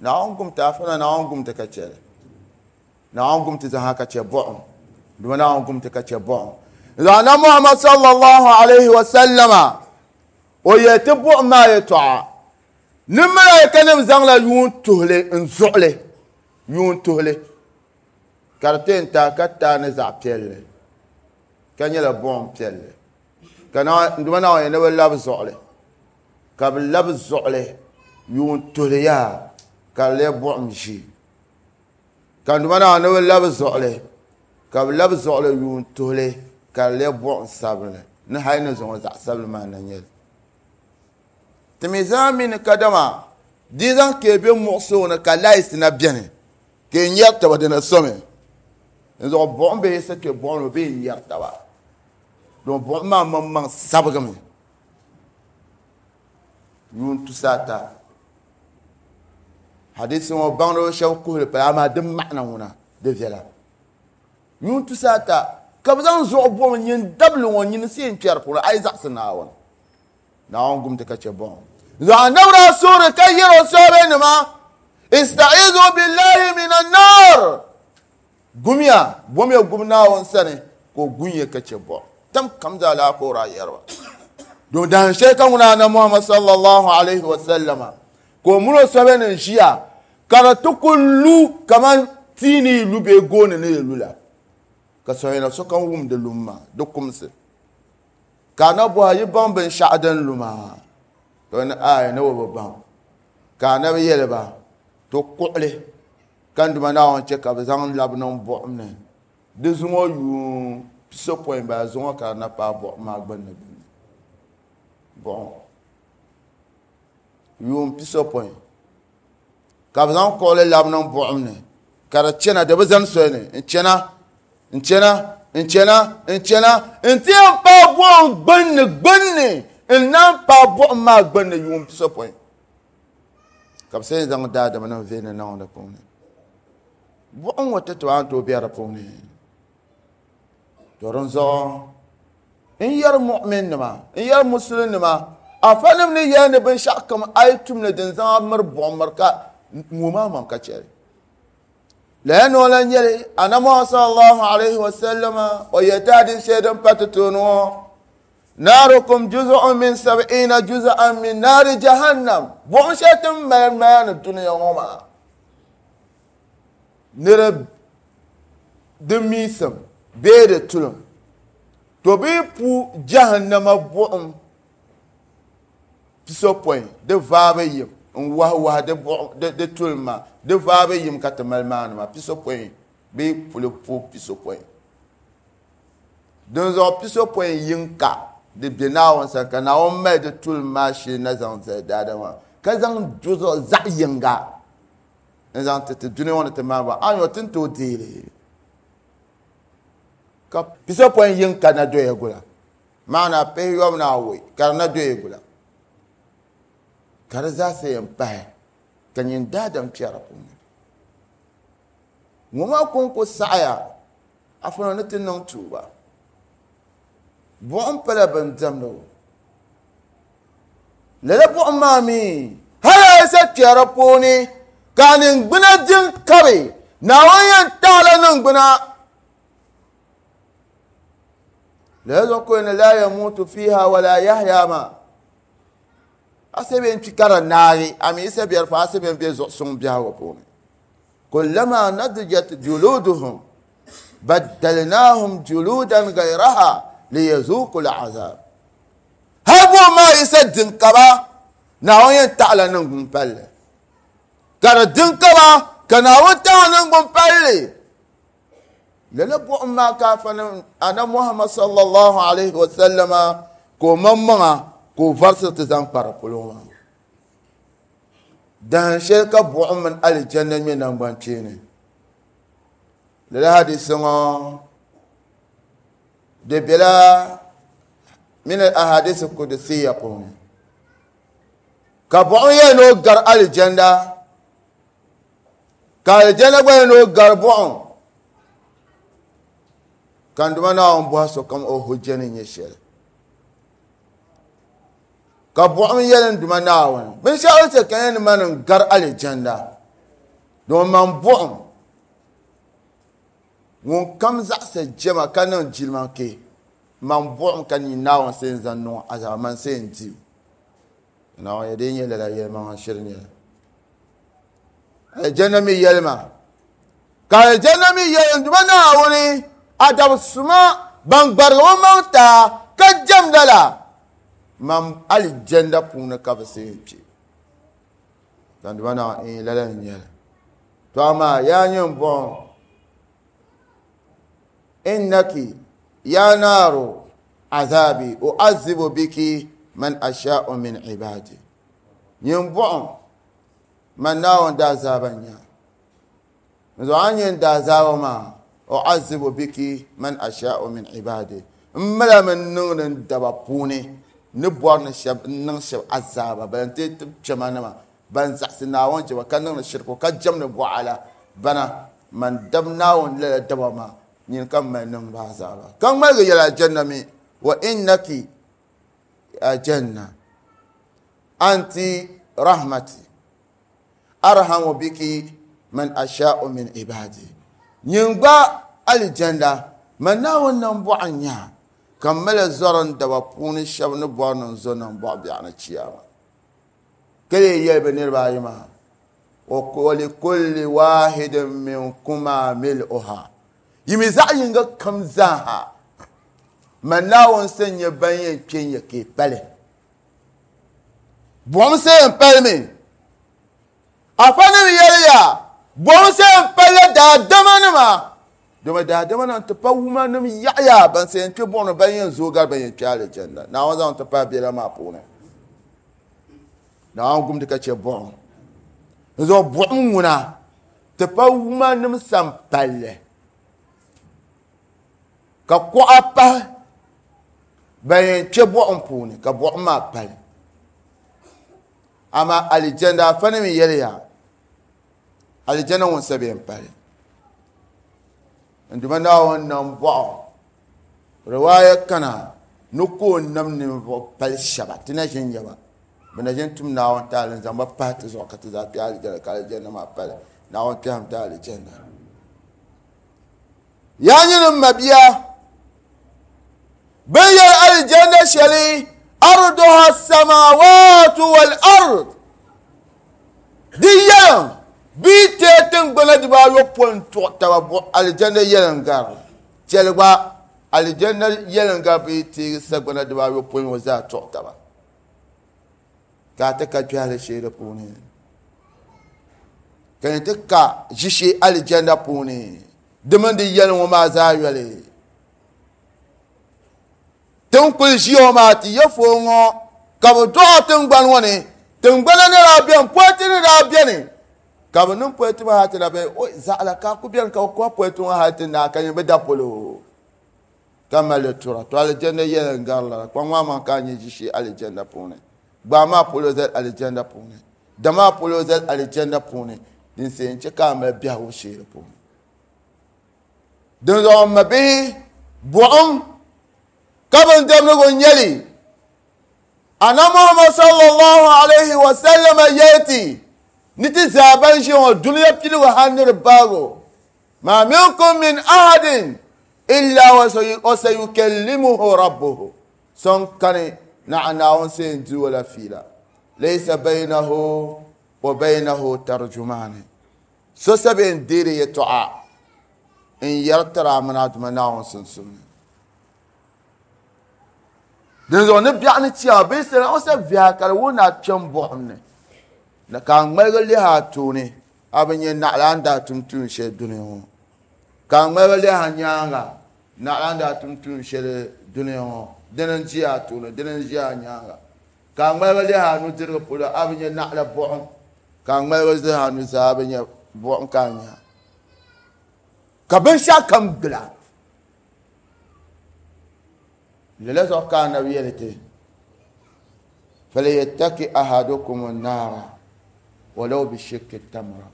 Naawuni gum ti afana Naawuni gum ti ka chɛli. Naawuni gum ti zaha ka chɛ buɣim. Duma Naawuni gum ti ka chɛ buɣim. Zaɣ Muhammad sallallahu alaihi wa sallama o yɛli ti buɣim maa yɛltɔɣa. Ni malaikanim zaŋla yuun tuhili n-zuɣili. Yuun tuhili. Ka di ti yɛn taai ka taai ni zaɣ piɛlli. Ka nyɛla buɣim piɛlli. Ka duma Naawuni yɛli ni bɛ labi zuɣili. Ka bɛ labi zuɣili yuun tuhili yaha ka di leei buɣim ʒii. Ka duma Naawuni ni bɛ labi zuɣili ka bɛ labi zuɣili yuun tuhili ka di leei buɣim sabinli. Ni hali ni zuŋɔ zaɣ sabinli maa na nyɛli. Ti mi zaa mi ni kadama di zaŋ ka be muɣisigu ni ka laisi na beni ka yi nyɛri taba dina somi. Dinzuɣu buɣim bee sa kpe buɣim ni bee yi nyɛri taba. Don buɣim maa maŋmaŋ sabigimi. Yuun tusa ata. Hadisi ŋɔ baŋdiba shɛba kuhili pala amaa di maɣina ŋuna di viɛla. Yuun tusa ata Ka bɛ zaŋ zuɣu buɣim nyin dabili ŋɔ nyini si yɛn kpɛri puuni a yi zaɣisi Naawuni. Naawuni gumti ka chɛ buɣim. Zuɣu anabi daa suhuri ka yɛri o sɔhibenima ista'izu billahi minan nar. Gumiya, bomiya gum Naawuni sani ka o gun ya ka chɛ buɣim. Tam kam zaa laa ka o daa yɛri ba. Domin dahin shɛli ka ŋuna anabi Muhammad sallallahu alaihi wa sallama ka o mini o sɔhibenim ʒiya ka di ti ku lu kaman tia ni yi lu bee gooni ni yi lu la. Ka sɔhina sokam wum di lum maa, di kumsi. Ka anabi bɔhi yi baŋ binshɛɣu din lu maa? To ni ayi ni o bi baŋ. Ka anabi yɛli ba to kuɣili ka n Duuma Naawuni chɛ ka bɛ zaŋ labi niŋ buɣim ni. Di zuŋɔ yuun pisopɔin bala zuŋɔ ka di na paai buɣim maa gbunni gbunni. Buɣim yuun pisopɔin ka bɛ zaŋ kuɣili labi niŋ buɣim ni ka di chana di bi zani soli ni n chana n chana n chana n chana n ti yɛn paai buɣim gbunni gbunni n naan paai buɣim maa gbunni yuun pisopɔin ka bɛ sa zaŋ daadama nim veeni niŋ di puuni. Buɣim ŋɔ ti ti a ni tooi be di puuni. To dinzuɣu n yɛri mu'min nima n yɛri musulinima afanim ni yɛli ni binshɛɣu kam a yi tum ni din zaŋ a miri buɣim miri ka ŋɔ maa maŋ ka chɛli. Lala ni o lan nyɛli anabi Muhammad sallallahu alaihi wa sallama o yɛli ti hadisi shɛli din pa ti tooni ŋɔ naarukum juz'un min sab'ina juz'an min naari jahannam. Buɣim shɛli ti ni mali maya ni dunia ŋɔ maa ni di miisim bee di tulim to bɛ yi pu jahannama buɣim pisopɔin di vaabu yim n wahi wahi di buɣim di, di tulim maa di vaabu yim ka ti mali maani maa pisopɔin bɛ yi puli pu pisopɔin. Dinzuɣu pisopɔin yinka di be Naawuni sani ka Naawuni mali di tulim maa shee na zaŋ zali daadama ka zaŋ juzu zaɣ yinga n zaŋ ti ti dunia ŋɔ ni ti maani ba a nyɔ ti ni tooi deeli ka pisopɔin yinka na doya gula maana pihiyɔbu ni awɔi ka di na doya gula ka di zaa sa yɛn pahi ka nyin daadam kpɛri puuni. Ŋɔ maa kɔŋko saɣaya afɔna ni ti niŋ tuuba. Buɣim pala bin diɛmdi o. Lala buɣim maa mi hali a yi sa kpɛri puuni ka a niŋgbuna din kabi Naawuni yɛn taɣila niŋgbuna. Lala zuɣu ka o ni la yamutu fiha wala yahya maa. A sa bɛn kpi ka di naagi a mi yi sa biɛri fa a sa bɛn be zuɣusuŋ biɛhigu puuni. Kullama nadijat juluduhum baddalnahum juludan gayraha liyazuqu al'azab. Hali buɣim maa yi sa din kaba Naawuni yɛn taɣila niŋgbun palli ka di din kaba ka Naawuni taɣi niŋgbun palli. Lala buɣim maa ka afa anabi Muhammad sallallahu alaihi wa sallama ka o maŋmaŋa ka o varisiri ti zaŋ kpa di polo maa. Dahin shɛli ka buɣim mini alijanna ŋmɛ naŋgban kpeeni. Lala hadisi ŋɔ di bela min al-ahadisi qudusiyya puuni. Ka buɣim yɛli ni o gari alijanna ka alijanna gba yɛli ni o gari buɣim. Ka n Duuma Naawuni bɔhi sokam o hujja ni nyɛ shɛli. Ka buɣim yɛli n Duuma Naawuni binshɛɣu chɛ ka yɛn ni ma ni n gari alijanna domin man buɣim ŋun kam zaɣisi jɛma ka niŋ jilima ke man buɣim ka nyin Naawuni sa yɛn zaŋ niŋ azaaba man sa yɛn di o. Naawuni yɛli di nyɛ lala yɛlimaŋa shiri nyɛla. Alijanna mi yɛli ma ka alijanna mi yɛli n Duuma Naawuni a dab suma ban gbarigi o maŋ taa ka jɛmda la man alijanna puuni ka bɛ sa yɛn kpe. Ka n Duuma Naawuni lala n nyɛli. To amaa yaa nyɛ n buɣim innaki ya naaru azabi u'azzibu biki man asha'u min ibadi. Nyin buɣim man Naawuni daazaaba n-nya. N zuɣu a ni nyɛ n daazaaba maa u'azzibu biki man asha'u min ibadi. N mala mi niŋdi n daba puuni ni bɔri ni shɛba n niŋ shɛba azaaba ban ti ti kpɛma nima ban zaɣisi Naawuni jɛma ka niŋdi shirku ka jɛmdi bɔɣa la bana man dab Naawuni lala daba maa Nyini ka mali niŋ ba azaaba. Ka ŋmaligi yɛli aljanna mi wa innaki aljanna anti rahmati arhamu biki man asha'u min ibadi. Nyin gba aljanna man Naawuni nambɔɣu nya ka mali zɔri n daba puuni shɛba ni bɔri ni n zo nambɔɣu biɛɣu ni chiyaama. Ka lee yɛli bɛ niriba ayi maa wa likulli wahidin minkuma mil'uha. Yi mi zaɣ yinga kam zaaha man Naawuni sa nyɛ ban yɛn kpe n-yɛ ka yi pali. Buɣim sa yɛn palimi. Afanim yɛliya buɣim sa yɛn palila daadamanima. Domi daadamanima ti pa wumanim yaɣaya ban sa yɛn kpe buɣim ni ban yɛn zooi gari ban yɛn kpe aljanna. Naawuni zaŋ ti pahi bela maa puuni. Naawuni gumdi ka che buɣim. Zuɣu buɣim ŋuna ti pa wumanim san palli. Ka kuɣa pahi ban yɛn kpe buɣim puuni ka buɣim maa pali. Amaa aljanna afanim yɛliya aljanna ŋun sa bɛ yɛn pali. N duma Naawuni nambɔɣu riwaaya kana ni ka o nam ninvuɣu pali shɛba ti na ʒin nyɛ ba. Bɛ na ʒin tum Naawuni taali n zaŋ ba pahi ti zuɣu ka ti zaa kpe aljanna ka aljanna maa pali. Naawuni kpɛhim ti aljanna. Yaa nyini m mabia bin yɛli aljanna shɛli arduha samawatu wal ard di yɛlim bee teei tiŋgbana dibaayopɔin tuɣi taba buɣ aljanna yɛlim gari chɛli gba aljanna yɛlim gari bee teegi sagbana dibaayopɔin ŋɔ zaa tuɣi taba ka a ti ka kpɛhili shee di puuni ka ni ti ka ʒishee aljanna puuni di mini di yɛlim ŋɔ maa zaa yoli tin kuli ʒiya ŋɔ maa ti yɛ foon ŋɔ ka bi dɔɣi tiŋgbani ŋɔ ni tiŋgbana ni daa bɛni politi ni daa bɛni ka bi niŋ politi maa hali ti na bɛ o zaɣala ka a ku bɛni ka bi kɔhi politi ŋɔ hali ti naai ka nyɛ bi da polo ka mali tura to aljanna yɛli n gari lala kpaŋ maa maŋ ka a nyɛ ʒishee aljanna puuni gbaa maa polo zali aljanna puuni da maa polo zali aljanna puuni din se n che ka a mali biɛhigu shee di puuni. Dinzuɣu m mabihi buɣim ka bindibdigu n-nyɛ li. Ana Muhammad sallallahu alayhi wa sallam yɛlti ni ti zaa ban ʒiya ŋɔ dunia piligu hali ni di baago ma minkum min ahadin illa wa sayukallimuhu rabbuhu so n kani naɣa Naawuni sa yɛn di o la fiila laysa baynahu wa baynahu tarjumani so sa bɛ yɛn deeri yɛltɔɣa n yɛri tiri a mini a duma Naawuni sunsuuni. Dinzuɣu ni biɛɣu ni chiyaama bee sala o sa viɛha ka di wuhi ni a kpɛm buɣim ni na ka a ŋmaligi lihi a tooni a bi nyɛ naɣila n daa tum tuun shɛli dunia ŋɔ ka a ŋmaligi lihi a nyaanga naɣila n daa tum tuun shɛli dunia ŋɔ dini n ʒi a tooni dini n ʒi a nyaanga ka a ŋmaligi lihi a nudirigu polo a bi nyɛ naɣila buɣim ka a ŋmaligi lihi a nuzaa a bi nyɛ buɣim ka a nya ka binshɛɣu kam gila. Lala zuɣu ka anabi yɛli ti falyattaki ahadukum an-nara walau bishikki tamra.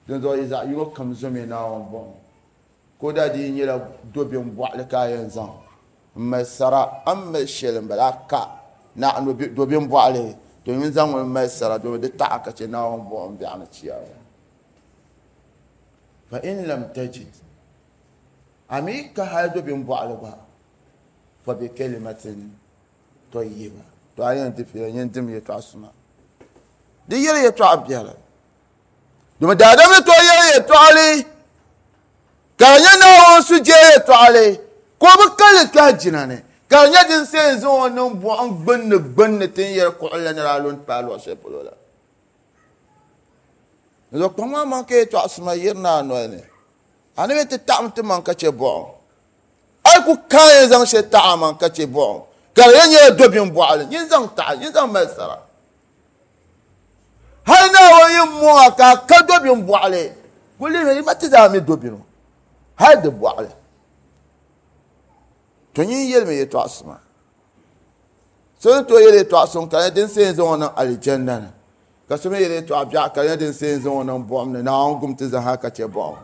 Dinzuɣu yi zaɣ yino kam zomi Naawuni buɣim ko daa di nyɛla dobin bɔɣili ka a yɛn zaŋ n mali sara a ni mali shɛli n bala a ka naɣ dobin bɔɣili to n zaŋ ŋun mali sara domi di taɣa ka chɛ Naawuni buɣim biɛɣu ni chiyaama. Fa in lam tajid a mi ka hali dobin bɔɣili gba fa bi kalimatin tayyiba to a yɛn di fiila yɛn dim yɛltɔɣa suma di yɛli yɛltɔɣa biɛla domi daadam ni tooi yɛli yɛltɔɣali ka di nyɛ Naawuni sujee yɛltɔɣali ka o bi kalli kpɛhi jina ni ka di nyɛ din sa yɛn zaŋ o niŋ buɣim gbunni gbunni ti ni yɛli kuɣuli la ni daa lu n-paai luɣ shɛli polo la. Zuɣu kpaŋ maa maŋ ka yɛltɔɣa suma yirina a noli ni a ni bɛ ti taɣim ti maŋ ka chɛ buɣim a yi ku kaai yɛn zaŋ shɛli taɣi a maŋ ka chɛ buɣim ka di yɛn nyɛla dobin bɔɣili nyin zaŋ taɣi nyin zaŋ mali sara hali Naawuni yi mɔŋ a ka a ka dobin bɔɣili ku lihimi yi ma ti zaa mi dobino hali di bɔɣili to nyin yɛlimi yɛltɔɣa suma so ni tooi yɛli yɛltɔɣa suŋ ka di nyɛ din sa yɛn zaŋ o niŋ aljanna ni ka so mi yɛli yɛltɔɣa biɛɣu ka di nyɛ din sa yɛn zaŋ o niŋ buɣim ni Naawuni gum ti zaa ka chɛ buɣim.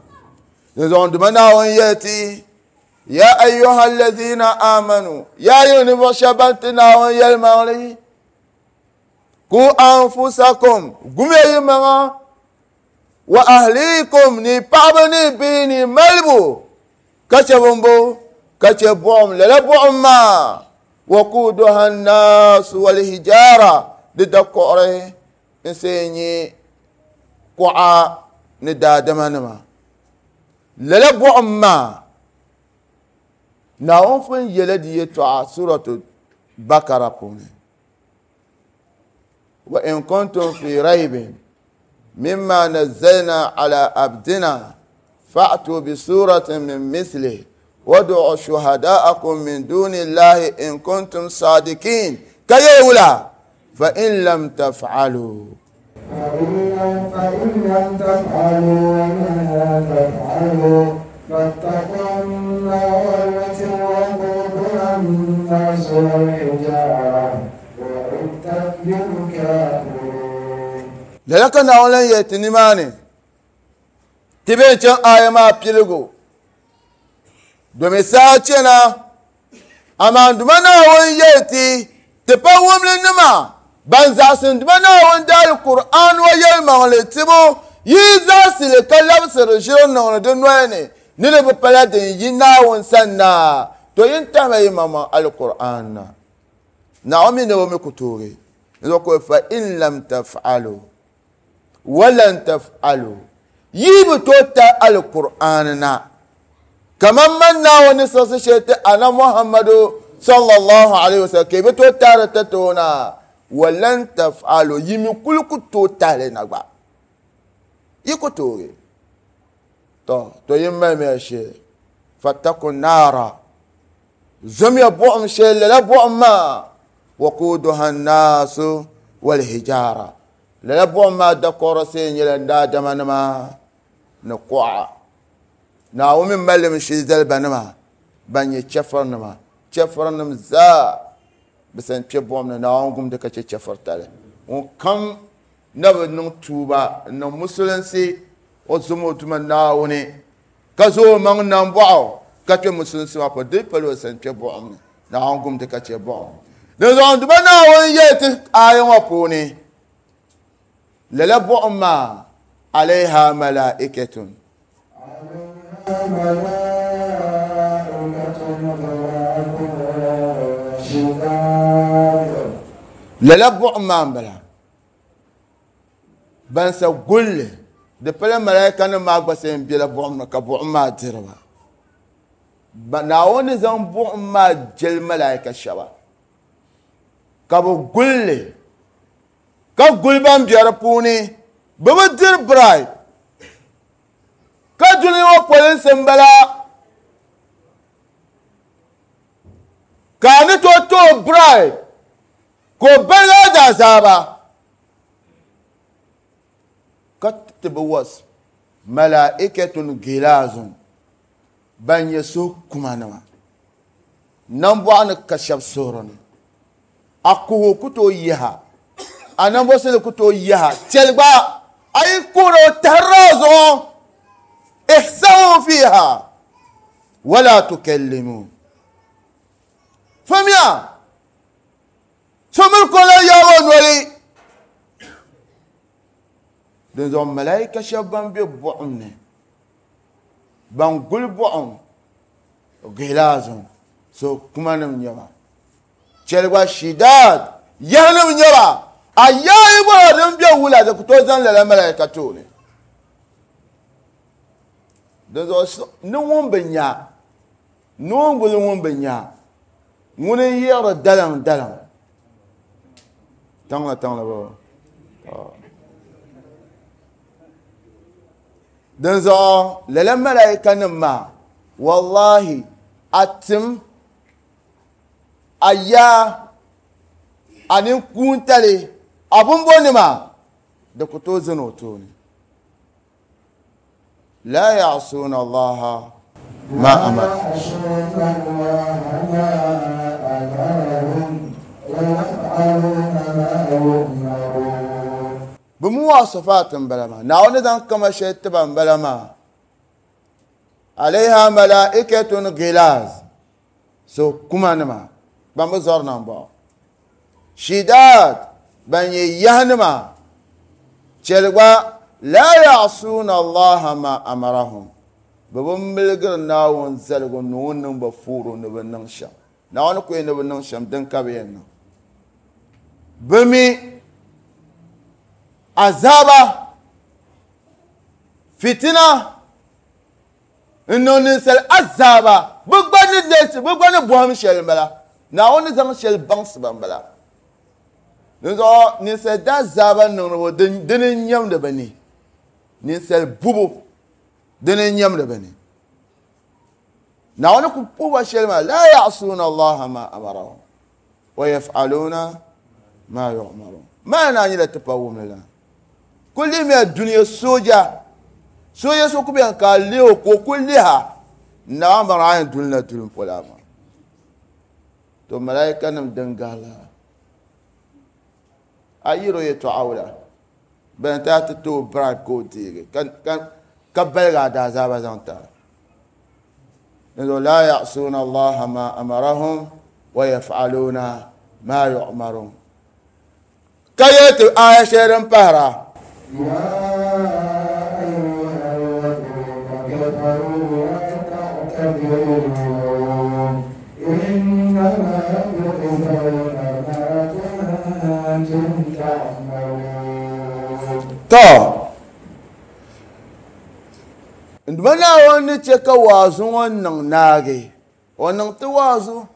Dinzuɣu Naawuni yɛli ya ayyuha allazina amanu ya yi ninvuɣu shɛba ban ti Naawuni yɛlimaŋli ku anfusakum gumiya yi maŋa wa ahlikum ni paɣaba ni bihi ni malibu ka chɛ bimbo ka chɛ buɣum lala buɣum maa waquduha annaasu walhijara di dakuɣuri n see nyɛ kuɣa ni daadama nima lala buɣum maa Naawuni pun yɛla di yɛltɔɣa suratu Bakara puuni wa in kuntum fi raybin mimma nazzalna ala abdina fa'tu bi suratin min mislihi wad'u shuhada'akum min duni llahi in kuntum sadiqin ka yɛli fa in lam taf'alu فإن لم تفعلوا وما تفعلوا فاتقوا النار التي وقودها الناس والحجارة أعدت للكافرين. Lala ka Naawuni lan yɛli ti nimaani ti bee chaŋ aya maa piligu domi saa chana amaa Duuma Naawuni yɛli ti ti pa wumli nima ban zaɣisi Duuma Naawuni daali Qur'an wa yɛlimaŋli tibu yi zaɣisili ka labisiri ʒiri niŋdi di noli ni ni di bi pala din yi Naawuni sani na to yin tahima yi maŋmaŋ al-Qur'an na Naawuni mi ni o mi ku toogi n fa in lam taf'alu wa lan taf'alu yi bi tooi ta al-Qur'an na kaman man Naawuni ni siɣisi shɛli ti ana Muhammadu sallallahu alayhi wa sallam ka i bi tooi taari ti ti o na wa lan taf'alu yi mi kuli ku tooi tahili na gba yi ku toogi to to yin malimiya shee fattaku naara zomiya buɣum shɛli lala buɣum maa waquduha annaasu walhijara lala buɣum maa dakɔrɔ see nyɛla daadama nima ni kuɣa Naawuni mi malimi shee zaliba nima ban nyɛ chɛfuri nima chɛfuri nim zaa bi san kpɛ buɣum ni Naawuni gumdi ka chɛ chɛfuri tali ŋun kam na bi niŋ tuuba n niŋ musulinsi o zom o Duuma Naawuni ka zo o maŋ nambɔɣu ka kpɛ musulinsi maa puuni di pala o san kpɛ buɣum ni Naawuni gumdi ka chɛ buɣum dinzuɣu Duuma Naawuni yɛli ti aya ŋɔ puuni lala buɣum maa alayha malaikatun lala buɣum maa n bala ban sa gulli di pala malaika nim maa gba sa n bela buɣum ni ka buɣum maa diriba Naawuni zaŋ buɣum maa jeli malaika shɛba ka bi gulli ka guli ban bɛ di puuni bi bi diri bribe ka duli ŋɔ polinsi n bala ka a ni tooi tooi bribe ka o baligi a daazaaba ka ti bi was malaikatun gilaazun ban nyɛ suhu kuma nima nambɔɣu ni ka shɛba suhuri ni a kuhu ku tooi yiha a nambɔsili ku tooi yiha chɛli gba a yi kuhiri o tahirila a zuɣu ihsawu fiha wala tukallimu fahimya so miri ka o lan yaagi o noli dinzuɣu malaika shɛba ban be buɣum ni ban guli buɣum gilaazun so kuma nim nyɛba chɛli gba shidaad yahanim nyɛba a yaai bɔra din be wula di ku tooi zaŋ lala malaika tooni dinzuɣu ni ŋun bi nya ni ŋun guli ŋun bi nya ŋuni n yiɣiri daliŋ daliŋ tiŋli tiŋli bo dinzuɣu lala malaika nim maa wallahi a tim a yaa a ninkuuntali a bumbo nima di ku tooi zani o tooni la ya'suuna allaha ma amara bi muwasafaat n bala maa Naawuni zaŋ kama shɛli tiba n bala maa Alayha malaikatun ghilaz. So kuma nima ban bi zɔri na n-bɔŋɔ. Shidad ban nyɛ yahi nima chɛli gba la ya'suna Allaha ma amarahum. Bɛ bi miligiri Naawuni zaligu ni o niŋ ba fooro ni bɛ niŋ shɛm. Naawuni ku yɛn ni bɛ niŋ shɛm din ka bɛ yɛn niŋ. Bɛ mi azaba fitina n niŋ ninsali azaba bɛ gba ni leesi bɛ gba ni bɔhim shɛli m-bala. Naawuni ni zaŋ shɛli baŋsi ba m-bala. Dinzuɣu ninsali daazaba niŋdibu dini n-nyɛmdi bɛ ni. Ninsali bubu dini n-nyɛmdi bɛ ni. Naawuni ku puhi ba shɛli maa la ya'suna Allaha ma amarahum wa yaf'aluna ma yu'marun. Maa naa nyɛla tipa wumli la. Ku lihimiya dunia sooja. Sooja so ku bɛni ka a lihi o ka o ku liha. Naawuni baŋ a yɛn duli na duli m-pola maa. To malaikanim din gahi la. A yiro yɛtɔɣa wula. Bɛni ti a ti ti o bribe ka o deegi ka baligi a daazaba zaŋ ti a. Dinzuɣu la ya'suna Allaha ma amarahum wa yaf'aluna ma yu'marun. Ka yɛli ti aya shɛli din pahira. Ya ayyuha alladhina kafaru la ta'tadiru innama tujzawna ma kuntum ta'malun. To nduma Naawuni ni chɛ ka waazu ŋɔ niŋ naagi o niŋ ti waazu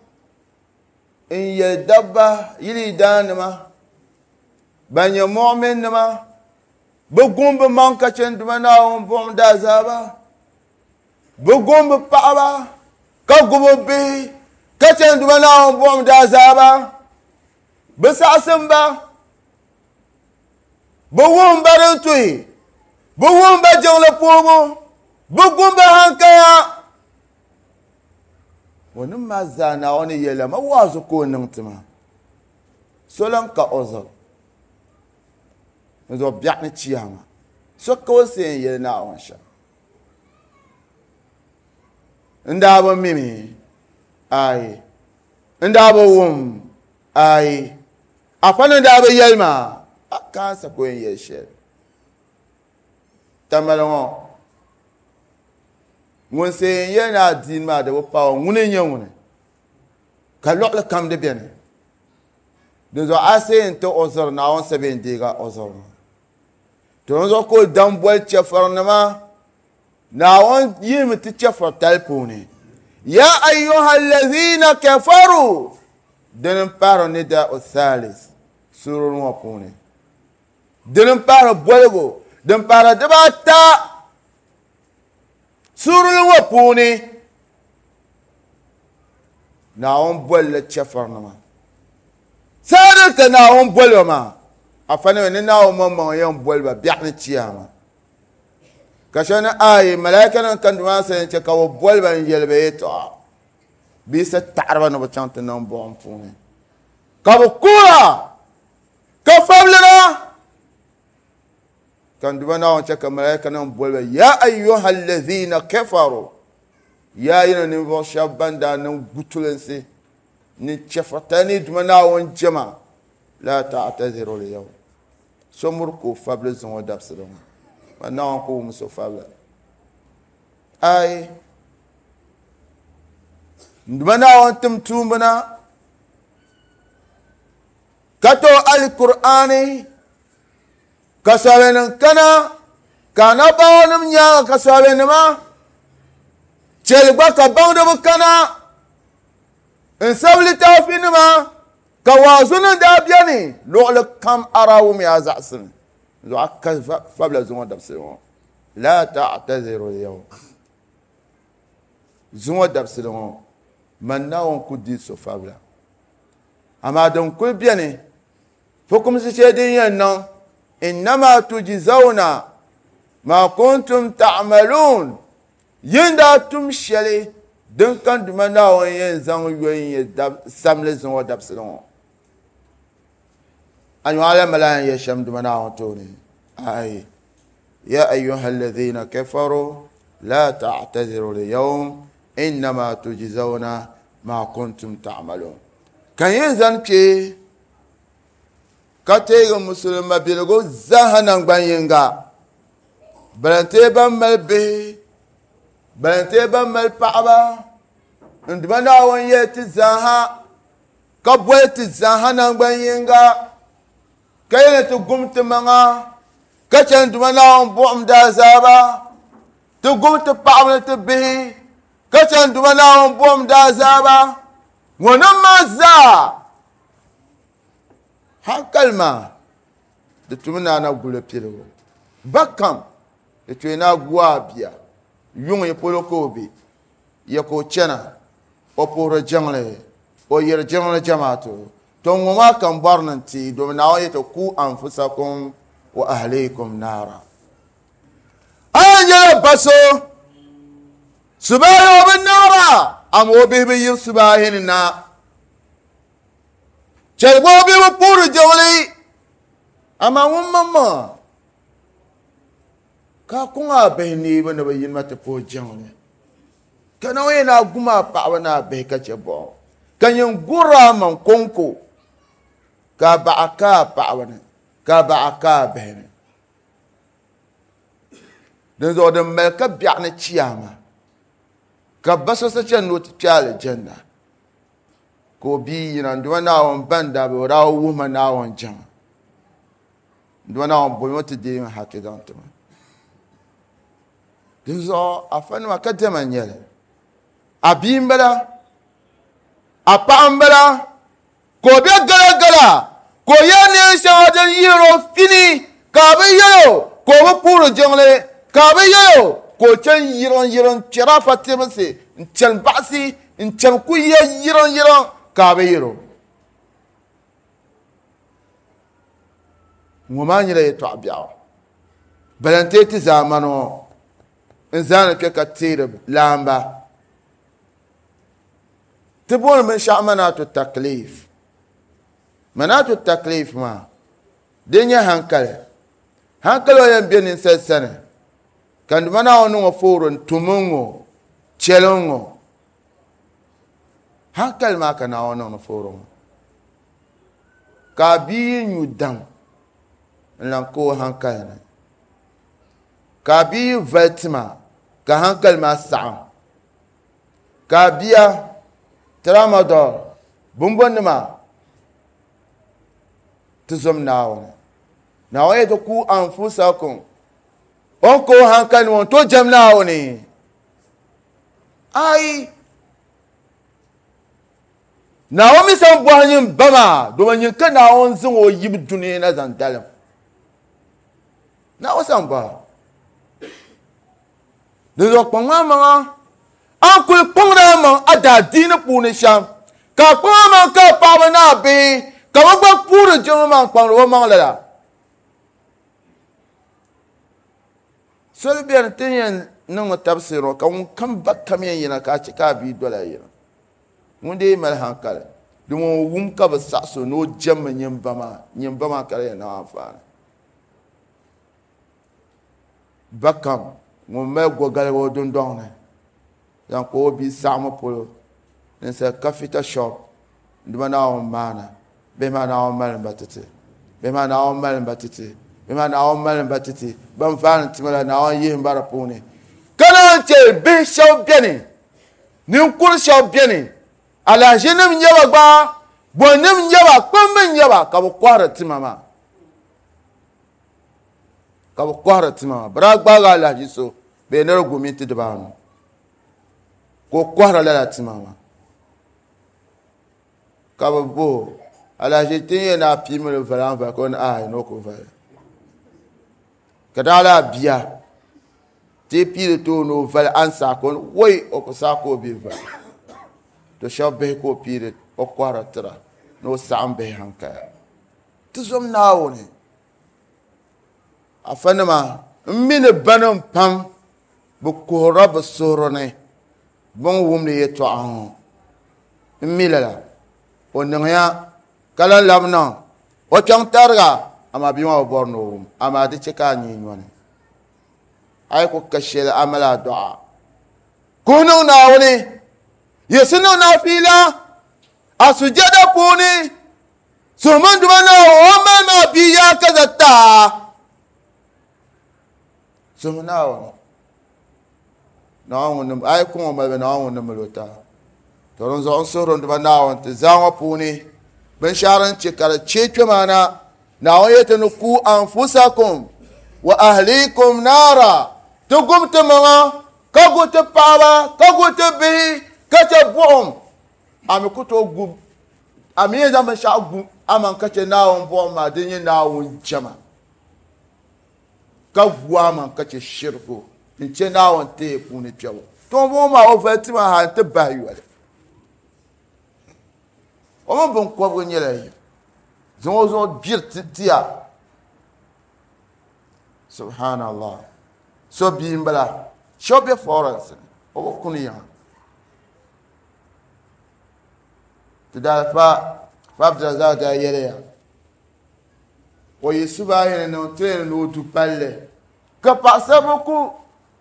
n yɛli dabba yili daanima ban nyɛ mu'minnima bɛ gum bɛ maŋ ka chɛ nduma Naawuni buɣim daazaba bɛ gum bɛ paɣaba ka gu bɛ bihi ka chɛ nduma Naawuni buɣim daazaba bɛ saɣasim ba bɛ wuhim ba din tuhi bɛ wuhim ba jiŋli puhibu bɛ gum ba hankaya ŋɔ maa zaa Naawuni yɛla ma waazu ka o niŋ ti ma so lan ka o zuɣu n zuɣu biɛɣu ni chiyaama so ka o se n yɛli Naawuni shɛm n daa bi mimi ayi n daa bi wum ayi afa ni daa bi yɛli maa a kaansa ka o yɛn yɛli shɛli tamali ŋɔ ŋun se n yɛli ni adiini maa di bi paai o ŋuni n-nyɛ ŋuni ka luɣuli kam di bɛni dinzuɣu a se n ti o zuɣu Naawuni sa bɛ n deegi o zuɣu maa to dinzuɣu ka o dam boli chɛfurinima Naawuni yihimi ti chɛfuritali puuni ya ayyuha allazina kafaru dini m-pahiri nida'u thalis suurili ŋɔ puuni dini m-pahiri boligu din pahiri dibaata suurili ŋɔ puuni Naawuni bolila chɛfurinima saadin ka Naawuni boli ba maa afanima ni Naawuni maŋmaŋ yɛn boli ba biɛɣu ni chiyaama ka shɛli ni ayi malaikanim ka duma sa yɛn chɛ ka bɛ boli ba n yɛli ba yɛltɔɣa bee sa taɣiriba ni bɛ chaŋ ti niŋ buɣim puuni ka bɛ kuura ka fabilira ka duma Naawuni chɛ ka malaikanim boli ba ya ayyuha allazina kafaru ya yina ninvuɣu shɛba ban daa niŋ gutulinsi ni chɛfuritali ni duma Naawuni jɛma la ta'taziru al-yawm so muri ka o fabili zuŋɔ dabisili ŋɔ ma Naawuni ku wum so fabila ayi duma Naawuni tim tuumba na ka to al-Qur'ani ka sɔbinim kana ka anabaawanim nyaaŋa ka sɔbinima chɛli gba ka baŋdiba kana n sabi litaafinima ka waazunim daa bɛni luɣuli kam arawumiya zaɣisimi zuɣu ka fabila zuŋɔ dabisili ŋɔ la ta'taziru al-yawm zuŋɔ dabisili ŋɔ man Naawuni ku di so fabila amaa din kuli bɛni fukumsi shɛli din yɛn niŋ innama tujzawna ma kuntum ta'malun yin daa tum shɛli din kan duma Naawuni yɛn zaŋ yo n-yɛ samli zuŋɔ dabisili ŋɔ anyuɣala mala yɛn yɛ shɛm duma Naawuni tooni ayi ya ayyuha alladhina kafaru La ta'tadhiru al-yawm innama tujzawna ma kuntum ta'malun. Kan yin zan kpe ka teegi musulma biligu zaaha nangban yinga balantee ban mali bihi balantee ban mali paɣaba n duma Naawuni yɛli ti zaaha ka boli ti zaaha nangban yinga ka yɛli ti gum ti maŋa ka chani duma Naawuni buɣum daazaaba ti gum ti paɣaba ni ti bihi ka chani duma Naawuni buɣum daazaaba ŋɔnim maa zaa hankali maa di tumi naa na guli piligu ba kam di tui naa gu a bia yuŋ yi polo ka o be ya ka o chana o puhiri jiŋli o yiri jiŋli jamaatu to ŋɔ maa kam bɔri ni ti domin Naawuni yɛti ku anfusakum wa ahlikum naara. A yɛn nyɛla ba so subahi o bi naara ama o bihi bi yiri subahi ni na chɛli gba o bihi bi puhiri jiŋli ama ŋun maŋmaŋa ka kuŋ a bihi neebu ni bi yinima ti puhi jiŋli ka Naawuni yɛn naa gum a paɣaba ni a bihi ka chɛ buɣum ka nyin guri a maŋ konko ka a baɣa ka a paɣaba ni ka a baɣa ka a bihi ni. Dinzuɣu din mali ka biɛɣu ni chiyaama ka ba so sa chani ni o ti kpe alijanna ka o bia yina n duma Naawuni ban daa be o daa wuhi ma Naawuni jama n duma Naawuni bolimi o ti deei ma haki zaŋ ti ma. Dinzuɣu afanima ka diɛma n nyɛli a bia n bala a paɣa n bala ka o be galagala ka o yɛ neen shɛŋa din yihiri o fini ka a bi yɛl o ka o bi puhiri jiŋli ka a bi yɛl o ka o chani yiriŋ yiriŋ kpɛri afa tibisi n chani baɣasi n chani ku yɛ yiriŋ yiriŋ ka a bi yɛl o. Ŋɔ maa nyɛla yɛltɔɣa biɛɣu balantee ti zaamani ŋɔ n zaani kpɛ ka teeri laamba ti booni binshaɣu manaatu taklif. Manaatu taklif maa di nyɛ hankali hankali o yɛn be ninsali sani ka n duma Naawuni niŋ o foori n tumi ŋɔ chɛli ŋɔ hankali maa ka Naawuni niŋ ni foori ŋɔ ka a bia yi nyu dam n lan ka o hankali ni ka a bia yi vali tima ka hankali maa saɣam ka a bia tramadol bumbɔnima ti zom Naawuni. Naawuni yɛti ku anfusakum o ni ka o hankali ni ŋɔ n tooi jɛm Naawuni ai Naawuni mi san bɔhi nyin ba maa domin nyin ka Naawuni zaŋ o yibu dunia na zaŋ dalim Naawuni san bɔhi dinzuɣu kpaŋ maa maŋa a ni kuli kpaŋdi a maŋ a daadiini puuni shɛm ka a kpaŋ a maŋ ka a paɣaba ni a bihi ka bi gba puhiri jiŋli maa n kpaŋdi o maŋ lala. Soli beni ti yɛn niŋmi tabisiri ŋɔ ka ŋun kam ba kam yɛn yina ka a chɛ ka a bia dola yina ŋun dee mali hankali di ŋun wum ka bi saɣasi o ni o jɛmmi nyin ba maa nyin ba maa ka di yɛn niŋ anfaani. Ba kam ŋun mali gɔgaligu o dundɔŋ ni zaŋ kpa o bia saɣimi polo ninsali kafita shop n duma Naawuni maana bihi maa Naawuni mali ba titi bihi maa Naawuni mali ba titi bihi maa Naawuni mali ba titi ban vaani tima la Naawuni yihi ba di puuni ka naan chɛ bihi shɛba beni ninkuri shɛba beni alahiʒinim nyɛ ba gba bɔnim nyɛ ba kpamba nyɛ ba ka bi kɔhiri tima maa ka bi kɔhiri tima maa bi daa gbaagi alahiʒi so bee ni di gu minti dibaanu ka o kɔhiri lala tima maa ka bi bo alahiʒi ti yɛn naa piimi li vali an vali ka o ni aai ni o ku vali ka daa laa bia ti piili tooni o vali an saa ka o ni woi o ku saa ka o bi vali to shɛba bihi ka o piiri o kɔhiri tira ni o saɣim bihi hankaya ti zom Naawuni afanima n mi ni banim pam bi kuhirila bi suhuri ni bin wumdi yɛltɔɣa ŋɔ n mi lala o niŋya ka lan labi niŋ o kpɛŋ tariga amaa bia maa bi bɔri ni o wum amaa di chɛ ka a nyee nyɔni A yi ku ka shɛli a mali a dɔɣa kuhi niŋ Naawuni yiɣisi niŋ naafiila a sujada puuni suhumin duba Naawuni o mali maa bia yaa ka za taa suhu Naawuni Naawuni a yi kuŋ o mali Naawuni ni mali o taa to din zuɣu n suhuri n duba Naawuni ti zaa ŋɔ puuni binshaɣu din chɛ ka di chɛ kpɛ maa na Naawuni yɛti ni ku anfusakum wa ahlikum naara ti gum ti maŋa ka gu ti paɣaba ka gu ti bihi ka chɛ buɣum a mi ku tooi gu a mi yɛn zaŋ binshaɣu gu amaŋ ka chɛ Naawuni buɣum maa din nyɛ Naawuni jɛma ka gu amaŋ ka chɛ shiriku n chɛ Naawuni teei puuni kpɛbu to ŋɔ maa o vali ti maa ha n ti bahi yoli o mini binkɔbigu nyɛla yim zaŋ o zuɣu gbiri tiya subhanallah so bia n bala shɛba bɛ forest o bi kuni yiŋa ti daa fa fa Abdulrazak daa yɛliya o yi subahi ni niŋ train ni o du palli ka paɣasaribili ku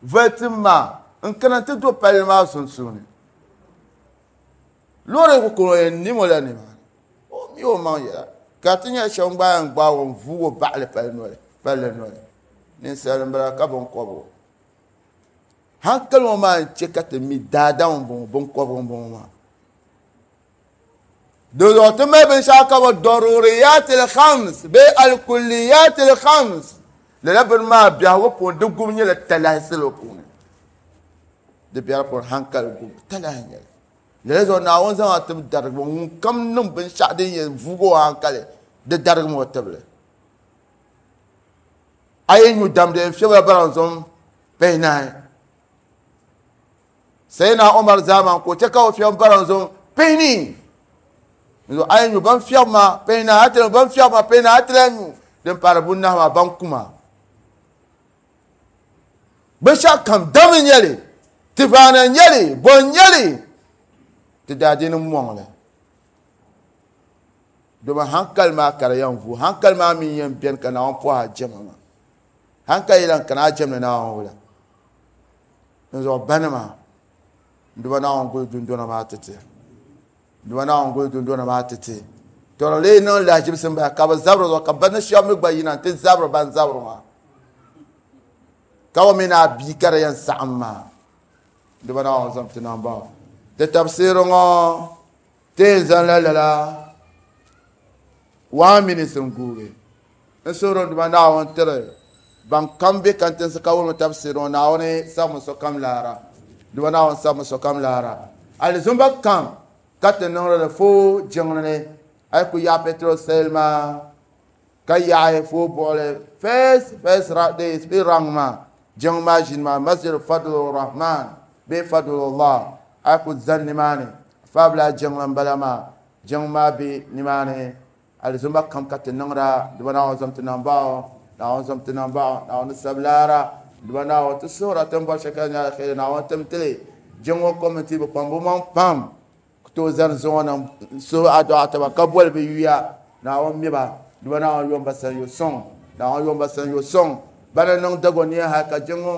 vali tim maa n kana ti do palli maa sunsuuni loori ku kuni o yɛn nimo la nimaani o mi o maŋ yɛla ka ti nyɛ shɛba gba yɛn gbaagi o n vuugi o baɣali palli noli palli noli ninsal n bala ka binkɔbigu hankali ŋɔ maa n chɛ ka ti mi daadam n bɔŋɔ binkɔbigu n bɔŋɔ maa di zuɣu ti mali binshaɣu ka bi daruriyatil khams bee alkulliyatil khams lala bini maa biɛhigu puuni di gubu nyɛla talahi salo puuni di biɛri puuni hankali gubu talahi nyɛli lala zuɣu Naawuni zaŋ a tib darigi ŋun kam niŋ binshaɣu din yɛn vuugi o hankali di darigimi o tibili a yi nyu damdi n fiɛbila baranzom pihinahi Sayyidina Umar zaman ka o chɛ ka o fiɛbi baranzom pihinii a yi nyu ban fiɛbi maa pihinahi a ti ban fiɛbi maa pihinahi a ti lahi nyu din paari bunahi maa ban kuma binshaɣu kam dam n nyɛli tivaana n nyɛli bo n nyɛli ti daadiini mɔŋli domi hankali maa ka di yɛn vuui hankali maa mi yɛn bɛni ka Naawuni pɔhi a jɛma maa hankali yi lan kana a jɛmdi Naawuni wula n zuɣu banima n duba Naawuni guli dundona maa ti ti n duba Naawuni guli dundona maa ti ti to di lee niŋ lahajibisi n bala ka bi zabiri zuɣu ka bani shɛba mi gba yina n ti zabiri ban zabiri maa ka bi mi ni a bia ka di yɛn saɣim maa n duba Naawuni zaŋ ti niŋ baŋ ti tabsiri ŋɔ ti yɛn zaŋ la lala one minute n guugi n suhuri n duba Naawuni tiri ban kam bɛ kantinsi ka wulimi tabsiri ŋɔ Naawuni sabimi sokam laara duba Naawuni sabimi sokam laara alizumba kam ka ti niŋdi li fo jiŋli ni a yi ku yaɣa petrol sale maa ka yaɣi fo buɣuli first first days bee rang maa jiŋ maa ʒini maa masjid Fadlur Rahman bee Fadlullah a yi ku zani nimaani faabila jiŋli n bala maa jiŋ maa bɛ nimaani alizumba kam ka ti niŋda duba Naawuni zaŋ ti niŋ baɣa Naawuni zaŋ ti niŋ baɣa Naawuni sabi laara duba Naawuni ti suhura ti ni bɔri shɛli ka di nyɛ alheri Naawuni tim tili jiŋ ŋɔ kɔmiti bi kpaŋ bi maŋ pam ku tooi zani zuŋɔ na n suhi adɔɣa taba ka boli bi yuya Naawuni mi ba duba Naawuni yom ba sanyo sɔŋ Naawuni yom ba sanyo sɔŋ bana niŋ dagoniya hali ka jiŋ ŋɔ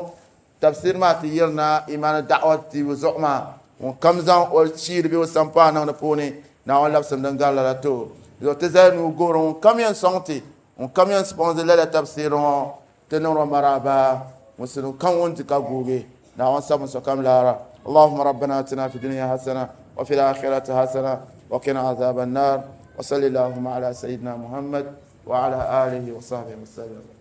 tafsir maa ti yirina imaani da'wa tibu zuɣu maa ŋun kam zaŋ o shiiri bee o sampaa niŋ di puuni Naawuni labisimi din gari lala to zuɣu ti zali nuu guhiri ŋun kam yɛn sɔŋ ti ŋun kam yɛn sponsor lala tafsiri ŋɔ ti niŋdi maraba musulum kam ŋun di ka guugi Naawuni sabimi sokam laara اللهم ربنا اتنا في الدنيا حسنه وفي الاخره حسنه وقنا عذاب النار وصلى اللهم على سيدنا محمد وعلى اله وصحبه وسلم.